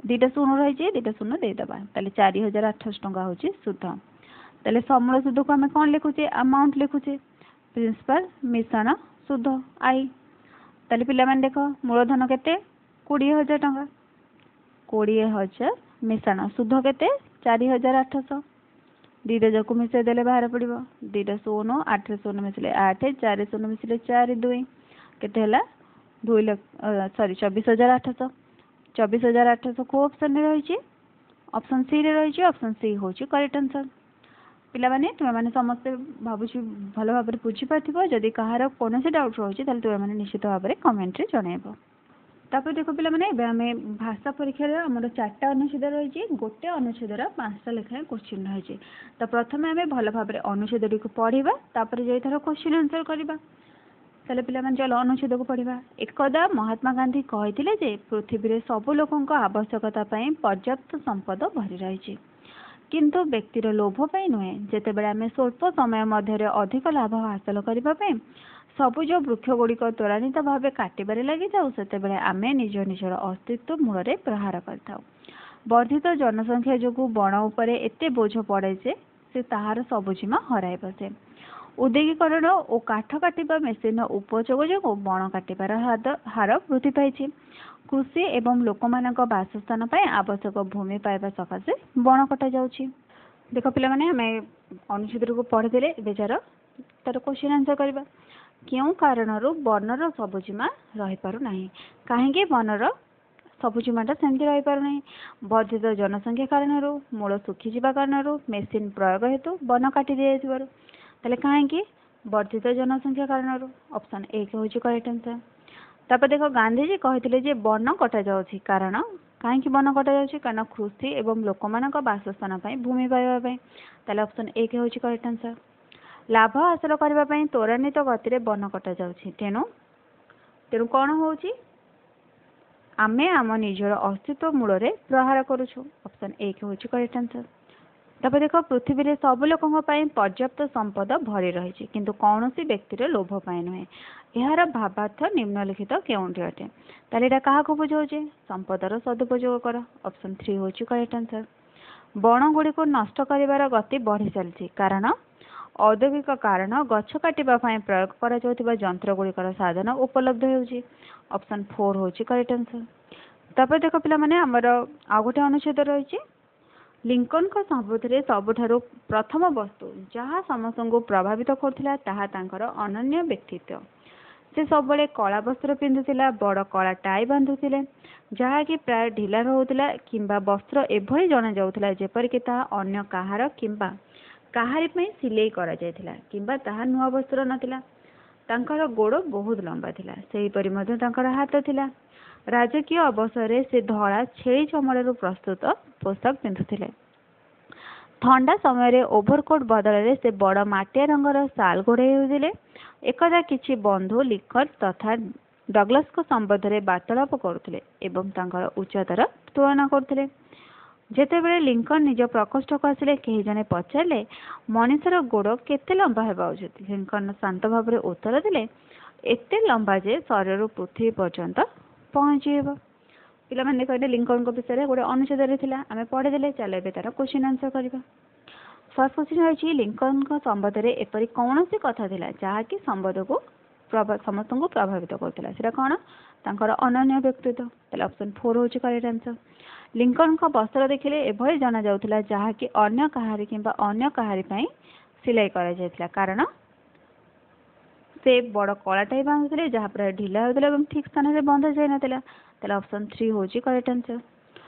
2ଟା 0 ରହିଛି, 2ଟା 0 ଦେଇଦେବା। ତାହେଲେ 4800 ଟଙ୍କା ହେଉଛି ସୁଧ। ତାହେଲେ ସମୂଳ ସୁଧକୁ ଆମେ କ'ଣ ଲେଖୁଛେ? ଆମାଉଣ୍ଟ ଲେଖୁଛେ, ପ୍ରିନ୍ସିପାଲ ମିଶାଣ ସୁଧ, I. ତାହେଲେ ପିଲାମାନେ ଦେଖ, ମୂଳଧନ କେତେ? 20,000 ଟଙ୍କା। 20,000 ମିଶାଣ ସୁଧ କେତେ? 4800। 2ଟା ଯାକୁ ମିଶାଇ ଦେଲେ ବାହାର ପଡ଼ିବ। 2ଟା 0, 8ରେ 0 ମିଶିଲେ 8, 4 0 ମିଶିଲେ 4, 2। କେତେ ହେଲା? 2 ଲକ୍ଷ, ସରି, 24,800। 24,800 କେଉଁ ଅପସନ୍ରେ ରହିଛି? ଅପସନ୍ ସିରେ ରହିଛି। ଅପସନ୍ ସି ହେଉଛି କରେକ୍ଟ ଆନ୍ସର୍। ପିଲାମାନେ, ତୁମେମାନେ ସମସ୍ତେ ଭାବୁଛି ଭଲ ଭାବରେ ବୁଝିପାରିଥିବ। ଯଦି କାହାର କୌଣସି ଡାଉଟ୍ ରହୁଛି, ତାହେଲେ ତୁମେମାନେ ନିଶ୍ଚିତ ଭାବରେ କମେଣ୍ଟରେ ଜଣାଇବ। ତାପରେ ଦେଖ ପିଲାମାନେ, ଏବେ ଆମେ ଭାଷା ପରୀକ୍ଷାରେ ଆମର 4ଟା ଅନୁଚ୍ଛେଦ ରହିଛି। ଗୋଟେ ଅନୁଚ୍ଛେଦର 5ଟା ଲେଖାଏଁ କୋଶ୍ଚିନ୍ ରହିଛି। ତ ପ୍ରଥମେ ଆମେ ଭଲ ଭାବରେ ଅନୁଚ୍ଛେଦଟିକୁ ପଢ଼ିବା, ତାପରେ ଯାଇ ତାର କୋଶ୍ଚିନ୍ ଆନ୍ସର୍ କରିବା। ତାହେଲେ ପିଲାମାନେ, ଚାଲ ଅନୁଚ୍ଛେଦକୁ ପଢ଼ିବା। ଏକଦା ମହାତ୍ମା ଗାନ୍ଧୀ କହିଥିଲେ ଯେ ପୃଥିବୀରେ ସବୁ ଲୋକଙ୍କ ଆବଶ୍ୟକତା ପାଇଁ ପର୍ଯ୍ୟାପ୍ତ ସମ୍ପଦ ଭରି ରହିଛି, କିନ୍ତୁ ବ୍ୟକ୍ତିର ଲୋଭ ପାଇଁ ନୁହେଁ। ଯେତେବେଳେ ଆମେ ସ୍ୱଳ୍ପ ସମୟ ମଧ୍ୟରେ ଅଧିକ ଲାଭ ହାସଲ କରିବା ପାଇଁ ସବୁଜ ବୃକ୍ଷଗୁଡ଼ିକ ତ୍ୱରାନ୍ୱିତ ଭାବେ କାଟିବାରେ ଲାଗିଥାଉ, ସେତେବେଳେ ଆମେ ନିଜ ନିଜର ଅସ୍ତିତ୍ୱ ମୂଳରେ ପ୍ରହାର କରିଥାଉ। ବର୍ଦ୍ଧିତ ଜନସଂଖ୍ୟା ଯୋଗୁଁ ବଣ ଉପରେ ଏତେ ବୋଝ ପଡ଼େ ଯେ ସେ ତାହାର ସବୁଜିମା ହରାଇ ବସେ। ଔଦ୍ୟୋଗିକରଣ ଓ କାଠ କାଟିବା ମେସିନ୍ର ଉପଯୋଗ ଯୋଗୁଁ ବଣ କାଟିବାର ହାର ବୃଦ୍ଧି ପାଇଛି। କୃଷି ଏବଂ ଲୋକମାନଙ୍କ ବାସସ୍ଥାନ ପାଇଁ ଆବଶ୍ୟକ ଭୂମି ପାଇବା ସକାଶେ ବଣ କଟାଯାଉଛି। ଦେଖ ପିଲାମାନେ, ଆମେ ଅନୁଚ୍ଛେଦଟିକୁ ପଢ଼ିଦେଲେ, ଏବେ ତାର କୋଶ୍ଚିନ୍ ଆନ୍ସର୍ କରିବା। କେଉଁ କାରଣରୁ ବନର ସବୁଜିମା ରହିପାରୁନାହିଁ? କାହିଁକି ବନର ସବୁଜିମାଟା ସେମିତି ରହିପାରୁନାହିଁ? ବର୍ଦ୍ଧିତ ଜନସଂଖ୍ୟା କାରଣରୁ, ମୂଳ ଶୁଖିଯିବା କାରଣରୁ, ମେସିନ୍ ପ୍ରୟୋଗ ହେତୁ, ବନ କାଟି ଦିଆଯାଇଥିବାରୁ। ତାହେଲେ କାହିଁକି? ବର୍ଦ୍ଧିତ ଜନସଂଖ୍ୟା କାରଣରୁ। ଅପସନ୍ 1 ହେଉଛି କରେକ୍ଟ ଆନ୍ସର୍। ତାପରେ ଦେଖ, ଗାନ୍ଧିଜୀ କହିଥିଲେ ଯେ ବନ କଟାଯାଉଛି କାରଣ। କାହିଁକି ବନ କଟାଯାଉଛି? କାରଣ କୃଷି ଏବଂ ଲୋକମାନଙ୍କ ବାସସ୍ଥାନ ପାଇଁ ଭୂମି ପାଇବା ପାଇଁ। ତାହେଲେ ଅପସନ୍ 1 ହେଉଛି କରେକ୍ଟ ଆନ୍ସର୍। ଲାଭ ହାସଲ କରିବା ପାଇଁ ତ୍ୱରାନ୍ୱିତ ଗତିରେ ବନ କଟାଯାଉଛି, ତେଣୁ କ'ଣ ହେଉଛି? ଆମେ ଆମ ନିଜର ଅସ୍ତିତ୍ୱ ମୂଳରେ ପ୍ରହାର କରୁଛୁ। ଅପସନ୍ 1 ହେଉଛି କରେକ୍ଟ ଆନ୍ସର୍। ତାପରେ ଦେଖ, ପୃଥିବୀରେ ସବୁ ଲୋକଙ୍କ ପାଇଁ ପର୍ଯ୍ୟାପ୍ତ ସମ୍ପଦ ଭରି ରହିଛି, କିନ୍ତୁ କୌଣସି ବ୍ୟକ୍ତିର ଲୋଭ ପାଇଁ ନୁହେଁ। ଏହାର ଭାବାର୍ଥ ନିମ୍ନଲିଖିତ କେଉଁଟି ଅଟେ? ତାହେଲେ ଏଇଟା କାହାକୁ ବୁଝାଉଛି? ସମ୍ପଦର ସଦୁପଯୋଗ କର। ଅପସନ୍ 3 ହେଉଛି କରେକ୍ଟ ଆନ୍ସର୍। ବଣଗୁଡ଼ିକୁ ନଷ୍ଟ କରିବାର ଗତି ବଢ଼ି ଚାଲିଛି କାରଣ ଔଦ୍ୟୋଗିକ କାରଣ, ଗଛ କାଟିବା ପାଇଁ ପ୍ରୟୋଗ କରାଯାଉଥିବା ଯନ୍ତ୍ରଗୁଡ଼ିକର ସାଧନ ଉପଲବ୍ଧ ହେଉଛି। ଅପସନ୍ 4 ହେଉଛି କରେକ୍ଟ ଆନ୍ସର୍। ତାପରେ ଦେଖ ପିଲାମାନେ, ଆମର ଆଉ ଗୋଟେ ଅନୁଚ୍ଛେଦ ରହିଛି। ଲିଙ୍କନଙ୍କ ସମ୍ବନ୍ଧରେ ସବୁଠାରୁ ପ୍ରଥମ ବସ୍ତୁ ଯାହା ସମସ୍ତଙ୍କୁ ପ୍ରଭାବିତ କରୁଥିଲା, ତାହା ତାଙ୍କର ଅନନ୍ୟ ବ୍ୟକ୍ତିତ୍ୱ। ସେ ସବୁବେଳେ କଳା ବସ୍ତ୍ର ପିନ୍ଧୁଥିଲା, ବଡ଼ କଳା ଟାଇ ବାନ୍ଧୁଥିଲେ, ଯାହାକି ପ୍ରାୟ ଢିଲା ରହୁଥିଲା କିମ୍ବା ବସ୍ତ୍ର ଏଭଳି ଜଣାଯାଉଥିଲା ଯେପରିକି ତାହା ଅନ୍ୟ କାହାର କିମ୍ବା କାହାରି ପାଇଁ ସିଲେଇ କରାଯାଇଥିଲା କିମ୍ବା ତାହା ନୂଆ ବସ୍ତ୍ର ନଥିଲା। ତାଙ୍କର ଗୋଡ଼ ବହୁତ ଲମ୍ବା ଥିଲା, ସେହିପରି ମଧ୍ୟ ତାଙ୍କର ହାତ ଥିଲା। ରାଜକୀୟ ଅବସରରେ ସେ ଧଳା ଛେଳି ଚମଡ଼ାରୁ ପ୍ରସ୍ତୁତ ପୋଷାକ ପିନ୍ଧୁଥିଲେ। ଥଣ୍ଡା ସମୟରେ ଓଭରକୋଟ୍ ବଦଳରେ ସେ ବଡ଼ ମାଟିଆ ରଙ୍ଗର ଶାଲ୍ ଘୋଡ଼େଇ ହେଉଥିଲେ। ଏକଦା କିଛି ବନ୍ଧୁ ଲିଙ୍କନ ତଥା ଡଗଲାସଙ୍କ ସମ୍ବନ୍ଧରେ ବାର୍ତ୍ତାଳାପ କରୁଥିଲେ ଏବଂ ତାଙ୍କର ଉଚ୍ଚତାର ତୁଳନା କରୁଥିଲେ। ଯେତେବେଳେ ଲିଙ୍କନ ନିଜ ପ୍ରକୋଷ୍ଠକୁ ଆସିଲେ, କେହି ଜଣେ ପଚାରିଲେ, ମଣିଷର ଗୋଡ଼ କେତେ ଲମ୍ବା ହେବା ଉଚିତ? ଲିଙ୍କନ ଶାନ୍ତ ଭାବରେ ଉତ୍ତର ଦେଲେ, ଏତେ ଲମ୍ବା ଯେ ଶରୀରରୁ ପୃଥିବୀ ପର୍ଯ୍ୟନ୍ତ ପହଞ୍ଚିହେବ। ପିଲାମାନେ କହିଲେ, ଲିଙ୍କନଙ୍କ ବିଷୟରେ ଗୋଟେ ଅନୁଚ୍ଛେଦରେ ଥିଲା, ଆମେ ପଢ଼ିଦେଲେ। ଚାଲ ଏବେ ତାର କୋଶ୍ଚିନ୍ ଆନ୍ସର୍ କରିବା। ଫାର୍ଷ୍ଟ କୋଶ୍ଚିନ୍ ରହିଛି, ଲିଙ୍କନଙ୍କ ସମ୍ବନ୍ଧରେ ଏପରି କୌଣସି କଥା ଥିଲା ଯାହାକି ସମ୍ବନ୍ଧକୁ ସମସ୍ତଙ୍କୁ ପ୍ରଭାବିତ କରୁଥିଲା, ସେଇଟା କ'ଣ? ତାଙ୍କର ଅନନ୍ୟ ବ୍ୟକ୍ତିତ୍ୱ। ତାହେଲେ ଅପସନ୍ 4 ହେଉଛି କରେକ୍ଟ ଆନ୍ସର୍। ଲିଙ୍କନଙ୍କ ବସ୍ତ୍ର ଦେଖିଲେ ଏଭଳି ଜଣାଯାଉଥିଲା ଯାହାକି ଅନ୍ୟ କାହାରି କିମ୍ବା ଅନ୍ୟ କାହାରି ପାଇଁ ସିଲାଇ କରାଯାଇଥିଲା, କାରଣ ସେ ବଡ଼ କଳା ଟାଇ ବାନ୍ଧୁଥିଲେ, ଯାହା ପ୍ରାୟ ଢିଲା ହେଉଥିଲା ଏବଂ ଠିକ୍ ସ୍ଥାନରେ ବନ୍ଧା ଯାଇନଥିଲା। ତାହେଲେ ଅପସନ୍ 3 ହେଉଛି କରେକ୍ଟ ଆନ୍ସର୍।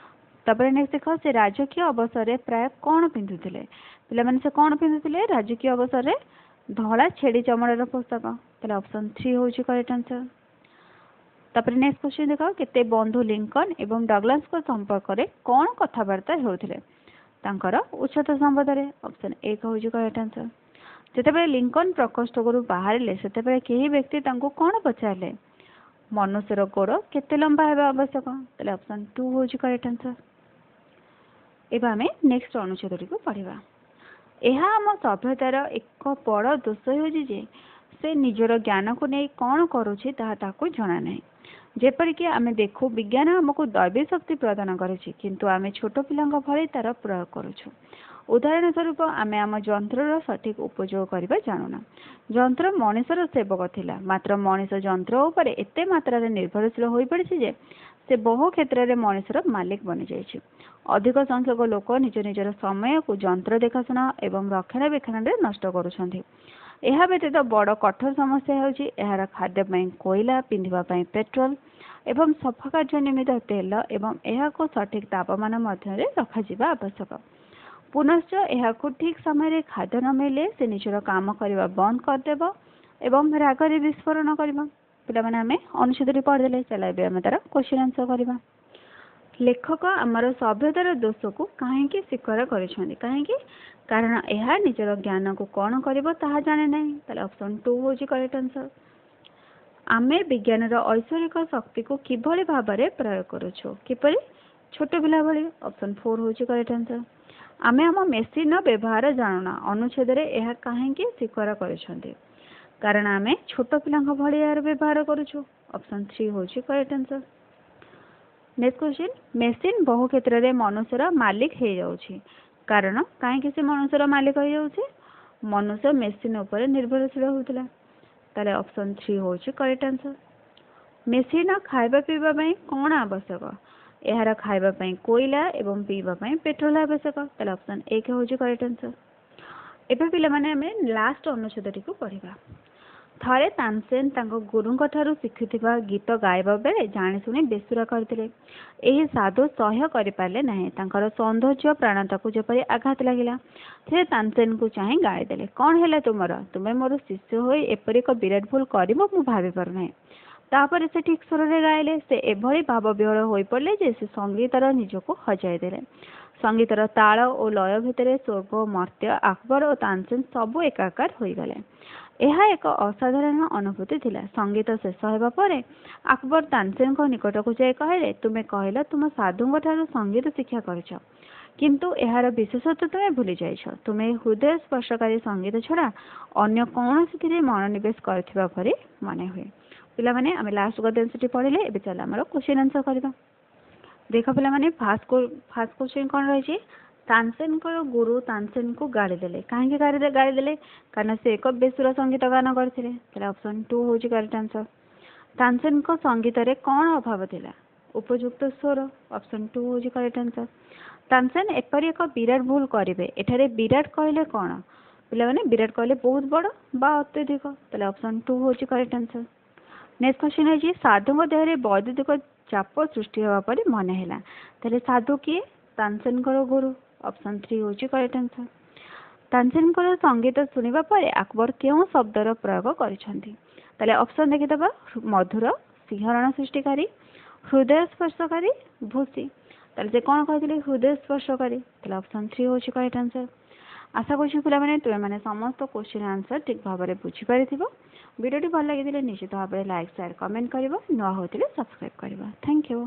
ତାପରେ ନେକ୍ସଟ ଦେଖ, ସେ ରାଜକୀୟ ଅବସରରେ ପ୍ରାୟ କ'ଣ ପିନ୍ଧୁଥିଲେ? ପିଲାମାନେ, ସେ କ'ଣ ପିନ୍ଧୁଥିଲେ ରାଜକୀୟ ଅବସରରେ? ଧଳା ଛେଳି ଚମଡ଼ାର ପୋଷାକ। ତାହେଲେ ଅପସନ୍ 3 ହେଉଛି କରେକ୍ଟ ଆନ୍ସର୍। ତାପରେ ନେକ୍ସଟ କ୍ୱେଶ୍ଚିନ୍ ଦେଖ, କେତେ ବନ୍ଧୁ ଲିଙ୍କନ ଏବଂ ଡଗଲାସଙ୍କ ସମ୍ପର୍କରେ କ'ଣ କଥାବାର୍ତ୍ତା ହେଉଥିଲେ? ତାଙ୍କର ଉଚ୍ଚତା ସମ୍ବନ୍ଧରେ। ଅପସନ୍ 1 ହେଉଛି କରେକ୍ଟ ଆନ୍ସର୍। ଯେତେବେଳେ ଲିଙ୍କନ ପ୍ରକୋଷ୍ଠରୁ ବାହାରିଲେ, ସେତେବେଳେ କେହି ବ୍ୟକ୍ତି ତାଙ୍କୁ କ'ଣ ପଚାରିଲେ? ମନୁଷ୍ୟର ଗୋଡ଼ କେତେ ଲମ୍ବା ହେବା ଆବଶ୍ୟକ? ତାହେଲେ ଅପସନ୍ 2 ହେଉଛି କରେକ୍ଟ ଆନ୍ସର୍। ଏବେ ଆମେ ନେକ୍ସଟ ଅନୁଚ୍ଛେଦଟିକୁ ପଢ଼ିବା। ଏହା ଆମ ସଭ୍ୟତାର ଏକ ବଡ଼ ଦୋଷ ହେଉଛି ଯେ ସେ ନିଜର ଜ୍ଞାନକୁ ନେଇ କ'ଣ କରୁଛି ତାହା ତାକୁ ଜଣା ନାହିଁ। ଯେପରିକି ଆମେ ଦେଖୁ, ବିଜ୍ଞାନ ଆମକୁ ଦୈବୀ ଶକ୍ତି ପ୍ରଦାନ କରିଛି, କିନ୍ତୁ ଆମେ ଛୋଟ ପିଲାଙ୍କ ଭଳି ତାର ପ୍ରୟୋଗ କରୁଛୁ। ଉଦାହରଣ ସ୍ୱରୂପ, ଆମେ ଆମ ଯନ୍ତ୍ରର ସଠିକ୍ ଉପଯୋଗ କରିବା ଜାଣୁନା। ଯନ୍ତ୍ର ମଣିଷର ସେବକ ଥିଲା, ମାତ୍ର ମଣିଷ ଯନ୍ତ୍ର ଉପରେ ଏତେ ମାତ୍ରାରେ ନିର୍ଭରଶୀଳ ହୋଇପଡ଼ିଛି ଯେ ସେ ବହୁ କ୍ଷେତ୍ରରେ ମଣିଷର ମାଲିକ ବନିଯାଇଛି। ଅଧିକ ସଂଖ୍ୟକ ଲୋକ ନିଜ ନିଜର ସମୟକୁ ଯନ୍ତ୍ର ଦେଖାଶୁଣା ଏବଂ ରକ୍ଷଣାବେକ୍ଷଣରେ ନଷ୍ଟ କରୁଛନ୍ତି। ଏହା ବ୍ୟତୀତ ବଡ଼ କଠୋର ସମସ୍ୟା ହେଉଛି ଏହାର ଖାଦ୍ୟ ପାଇଁ କୋଇଲା, ପିନ୍ଧିବା ପାଇଁ ପେଟ୍ରୋଲ ଏବଂ ସଫା କାର୍ଯ୍ୟ ନିମିତ୍ତ ତେଲ ଏବଂ ଏହାକୁ ସଠିକ୍ ତାପମାନ ମଧ୍ୟରେ ରଖାଯିବା ଆବଶ୍ୟକ। ପୁନଶ୍ଚ ଏହାକୁ ଠିକ୍ ସମୟରେ ଖାଦ୍ୟ ନ ମିଳିଲେ ସେ ନିଜର କାମ କରିବା ବନ୍ଦ କରିଦେବ ଏବଂ ରାଗରେ ବିସ୍ଫୋରଣ କରିବ। ପିଲାମାନେ, ଆମେ ଅନୁଚ୍ଛେଦଟି ପଢ଼ିଦେଲେ। ଚାଲ ଏବେ ଆମେ ତାର କ୍ୱେଶ୍ଚିନ୍ ଆନ୍ସର୍ କରିବା। ଲେଖକ ଆମର ସଭ୍ୟତାର ଦୋଷକୁ କାହିଁକି ସ୍ୱୀକାର କରିଛନ୍ତି? କାହିଁକି? କାରଣ ଏହା ନିଜର ଜ୍ଞାନକୁ କ'ଣ କରିବ ତାହା ଜାଣେ ନାହିଁ। ତାହେଲେ ଅପସନ୍ 2 ହେଉଛି କରେକ୍ଟ ଆନ୍ସର୍। ଆମେ ବିଜ୍ଞାନର ଐଶ୍ୱରିକ ଶକ୍ତିକୁ କିଭଳି ଭାବରେ ପ୍ରୟୋଗ କରୁଛୁ? କିପରି? ଛୋଟ ପିଲା ଭଳି। ଅପସନ୍ 4 ହେଉଛି କରେକ୍ଟ ଆନ୍ସର୍। ଆମେ ଆମ ମେସିନ୍ର ବ୍ୟବହାର ଜାଣୁନା, ଅନୁଚ୍ଛେଦରେ ଏହା କାହିଁକି ସ୍ୱୀକାର କରିଛନ୍ତି? କାରଣ ଆମେ ଛୋଟ ପିଲାଙ୍କ ଭଳି ଏହାର ବ୍ୟବହାର କରୁଛୁ। ଅପସନ୍ 3 ହେଉଛି correct answer. Next question, machine ବହୁ କ୍ଷେତ୍ରରେ ମନୁଷ୍ୟର ମାଲିକ ହେଇଯାଉଛି। କାରଣ କାହିଁକି ସେ ମନୁଷ୍ୟର ମାଲିକ ହେଇଯାଉଛି? ମନୁଷ୍ୟ ମେସିନ୍ ଉପରେ ନିର୍ଭରଶୀଳ ହେଉଥିଲା। ତାହେଲେ ଅପସନ୍ 3 ହେଉଛି କରେକ୍ଟ ଆନ୍ସର୍। ମେସିନ୍ର ଖାଇବା ପିଇବା ପାଇଁ କ'ଣ ଆବଶ୍ୟକ? ଏହାର ଖାଇବା ପାଇଁ କୋଇଲା ଏବଂ ପିଇବା ପାଇଁ ପେଟ୍ରୋଲ ଆବଶ୍ୟକ। ତାହେଲେ ଅପସନ୍ 1 ହେଉଛି କରେକ୍ଟ ଆନ୍ସର୍। ଏବେ ପିଲାମାନେ, ଆମେ ଲାଷ୍ଟ ଅନୁଚ୍ଛେଦଟିକୁ ପଢ଼ିବା। ଥରେ ତାନସେନ ତାଙ୍କ ଗୁରୁଙ୍କ ଠାରୁ ଶିଖୁଥିବା ଗୀତ ଗାଇବା ବେଳେ ଜାଣିଶୁଣି ବେସୁରା କରିଥିଲେ। ଏହି ସାଧୁ ସହ୍ୟ କରିପାରିଲେ ନାହିଁ। ତାଙ୍କର ସୌନ୍ଦର୍ଯ୍ୟ ପ୍ରାଣତାକୁ ଯେପରି ଆଘାତ ଲାଗିଲା। ସେ ତାନସେନକୁ ଚାହିଁ ଗାଳିଦେଲେ, କ'ଣ ହେଲା ତୁମର? ତୁମେ ମୋର ଶିଷ୍ୟ ହୋଇ ଏପରି ଏକ ବିରାଟ ଭୁଲ କରିବ, ମୁଁ ଭାବି ପାରୁନାହିଁ। ତାପରେ ସେ ଠିକ୍ ସ୍ୱରରେ ଗାଇଲେ। ସେ ଏଭଳି ଭାବବିହ୍ୱଳ ହୋଇପଡ଼ିଲେ ଯେ ସେ ସଙ୍ଗୀତର ନିଜକୁ ହଜାଇ ଦେଲେ। ସଙ୍ଗୀତର ତାଳ ଓ ଲୟ ଭିତରେ ସ୍ୱର୍ଗ, ମର୍ତ୍ତ୍ୟ, ଆକବର ଓ ତାନସେନ ସବୁ ଏକାକାର ହୋଇଗଲେ। ଏହା ଏକ ଅସାଧାରଣ ଅନୁଭୂତି ଥିଲା। ସଙ୍ଗୀତ ଶେଷ ହେବା ପରେ ଆକବର ତାନସେନଙ୍କ ନିକଟକୁ ଯାଇ କହିଲେ, ତୁମେ କହିଲ ତୁମ ସାଧୁଙ୍କ ଠାରୁ ସଙ୍ଗୀତ ଶିକ୍ଷା କରିଛ, କିନ୍ତୁ ଏହାର ବିଶେଷତ୍ୱ ତୁମେ ଭୁଲି ଯାଇଛ। ତୁମେ ହୃଦୟ ସ୍ପର୍ଶକାରୀ ସଙ୍ଗୀତ ଛଡ଼ା ଅନ୍ୟ କୌଣସିଥିରେ ମନୋନିବେଶ କରିଥିବା ପରି ମନେ ହୁଏ। ପିଲାମାନେ, ଆମେ ଲାଷ୍ଟ ଗଦ୍ୟାଂଶଟି ପଢ଼ିଲେ। ଏବେ ଚାଲ ଆମର କ୍ୱେଶ୍ଚିନ୍ ଆନ୍ସର୍ କରିବା। ଦେଖ ପିଲାମାନେ, ଫାର୍ଷ୍ଟ କ୍ୱେଶ୍ଚିନ୍ କ'ଣ ରହିଛି? ତାନସେନଙ୍କର ଗୁରୁ ତାନସେନକୁ ଗାଳି ଦେଲେ। କାହିଁକି ଗାଳି ଦେଲେ? କାରଣ ସେ ଏକ ବେସୁରା ସଙ୍ଗୀତ ଗାନ କରିଥିଲେ। ତାହେଲେ ଅପସନ୍ 2 ହେଉଛି କରେକ୍ଟ ଆନ୍ସର୍। ତାନସେନଙ୍କ ସଙ୍ଗୀତରେ କ'ଣ ଅଭାବ ଥିଲା? ଉପଯୁକ୍ତ ସ୍ୱର। ଅପସନ୍ 2 ହେଉଛି କରେକ୍ଟ ଆନ୍ସର୍। ତାନସେନ ଏପରି ଏକ ବିରାଟ ଭୁଲ କରିବେ, ଏଠାରେ ବିରାଟ କହିଲେ କ'ଣ? ପିଲାମାନେ, ବିରାଟ କହିଲେ ବହୁତ ବଡ଼ ବା ଅତ୍ୟଧିକ। ତାହେଲେ ଅପସନ୍ 2 ହେଉଛି କରେକ୍ଟ ଆନ୍ସର୍। ନେକ୍ସଟ କ୍ୱେଶ୍ଚିନ୍ ହେଉଛି, ସାଧୁଙ୍କ ଦେହରେ ବୈଦ୍ୟୁତିକ ଚାପ ସୃଷ୍ଟି ହେବା ପରି ମନେ ହେଲା। ତାହେଲେ ସାଧୁ କିଏ? ତାନସେନଙ୍କର ଗୁରୁ। ଅପସନ୍ 3 ହେଉଛି କରେକ୍ଟ ଆନ୍ସର୍। ତାନସେନଙ୍କର ସଙ୍ଗୀତ ଶୁଣିବା ପରେ ଆକବର କେଉଁ ଶବ୍ଦର ପ୍ରୟୋଗ କରିଛନ୍ତି? ତାହେଲେ ଅପସନ୍ ଦେଖିଦେବା, ମଧୁର, ଶିହରଣ ସୃଷ୍ଟିକାରୀ, ହୃଦୟ ସ୍ପର୍ଶକାରୀ, ଭୂଷି। ତାହେଲେ ସେ କ'ଣ କହିଥିଲେ? ହୃଦୟ ସ୍ପର୍ଶକାରୀ। ତାହେଲେ ଅପସନ୍ 3 ହେଉଛି କରେକ୍ଟ ଆନ୍ସର୍। ଆଶା କରୁଛି ପିଲାମାନେ, ତୁମେମାନେ ସମସ୍ତ କ୍ୱେଶ୍ଚିନ୍ ଆନ୍ସର୍ ଠିକ୍ ଭାବରେ ବୁଝିପାରିଥିବ। ଭିଡ଼ିଓଟି ଭଲ ଲାଗିଥିଲେ ନିଶ୍ଚିତ ଭାବରେ ଲାଇକ୍, ସେୟାର, କମେଣ୍ଟ କରିବ। ନୂଆ ହୋଇଥିଲେ ସବସ୍କ୍ରାଇବ୍ କରିବ। Thank you.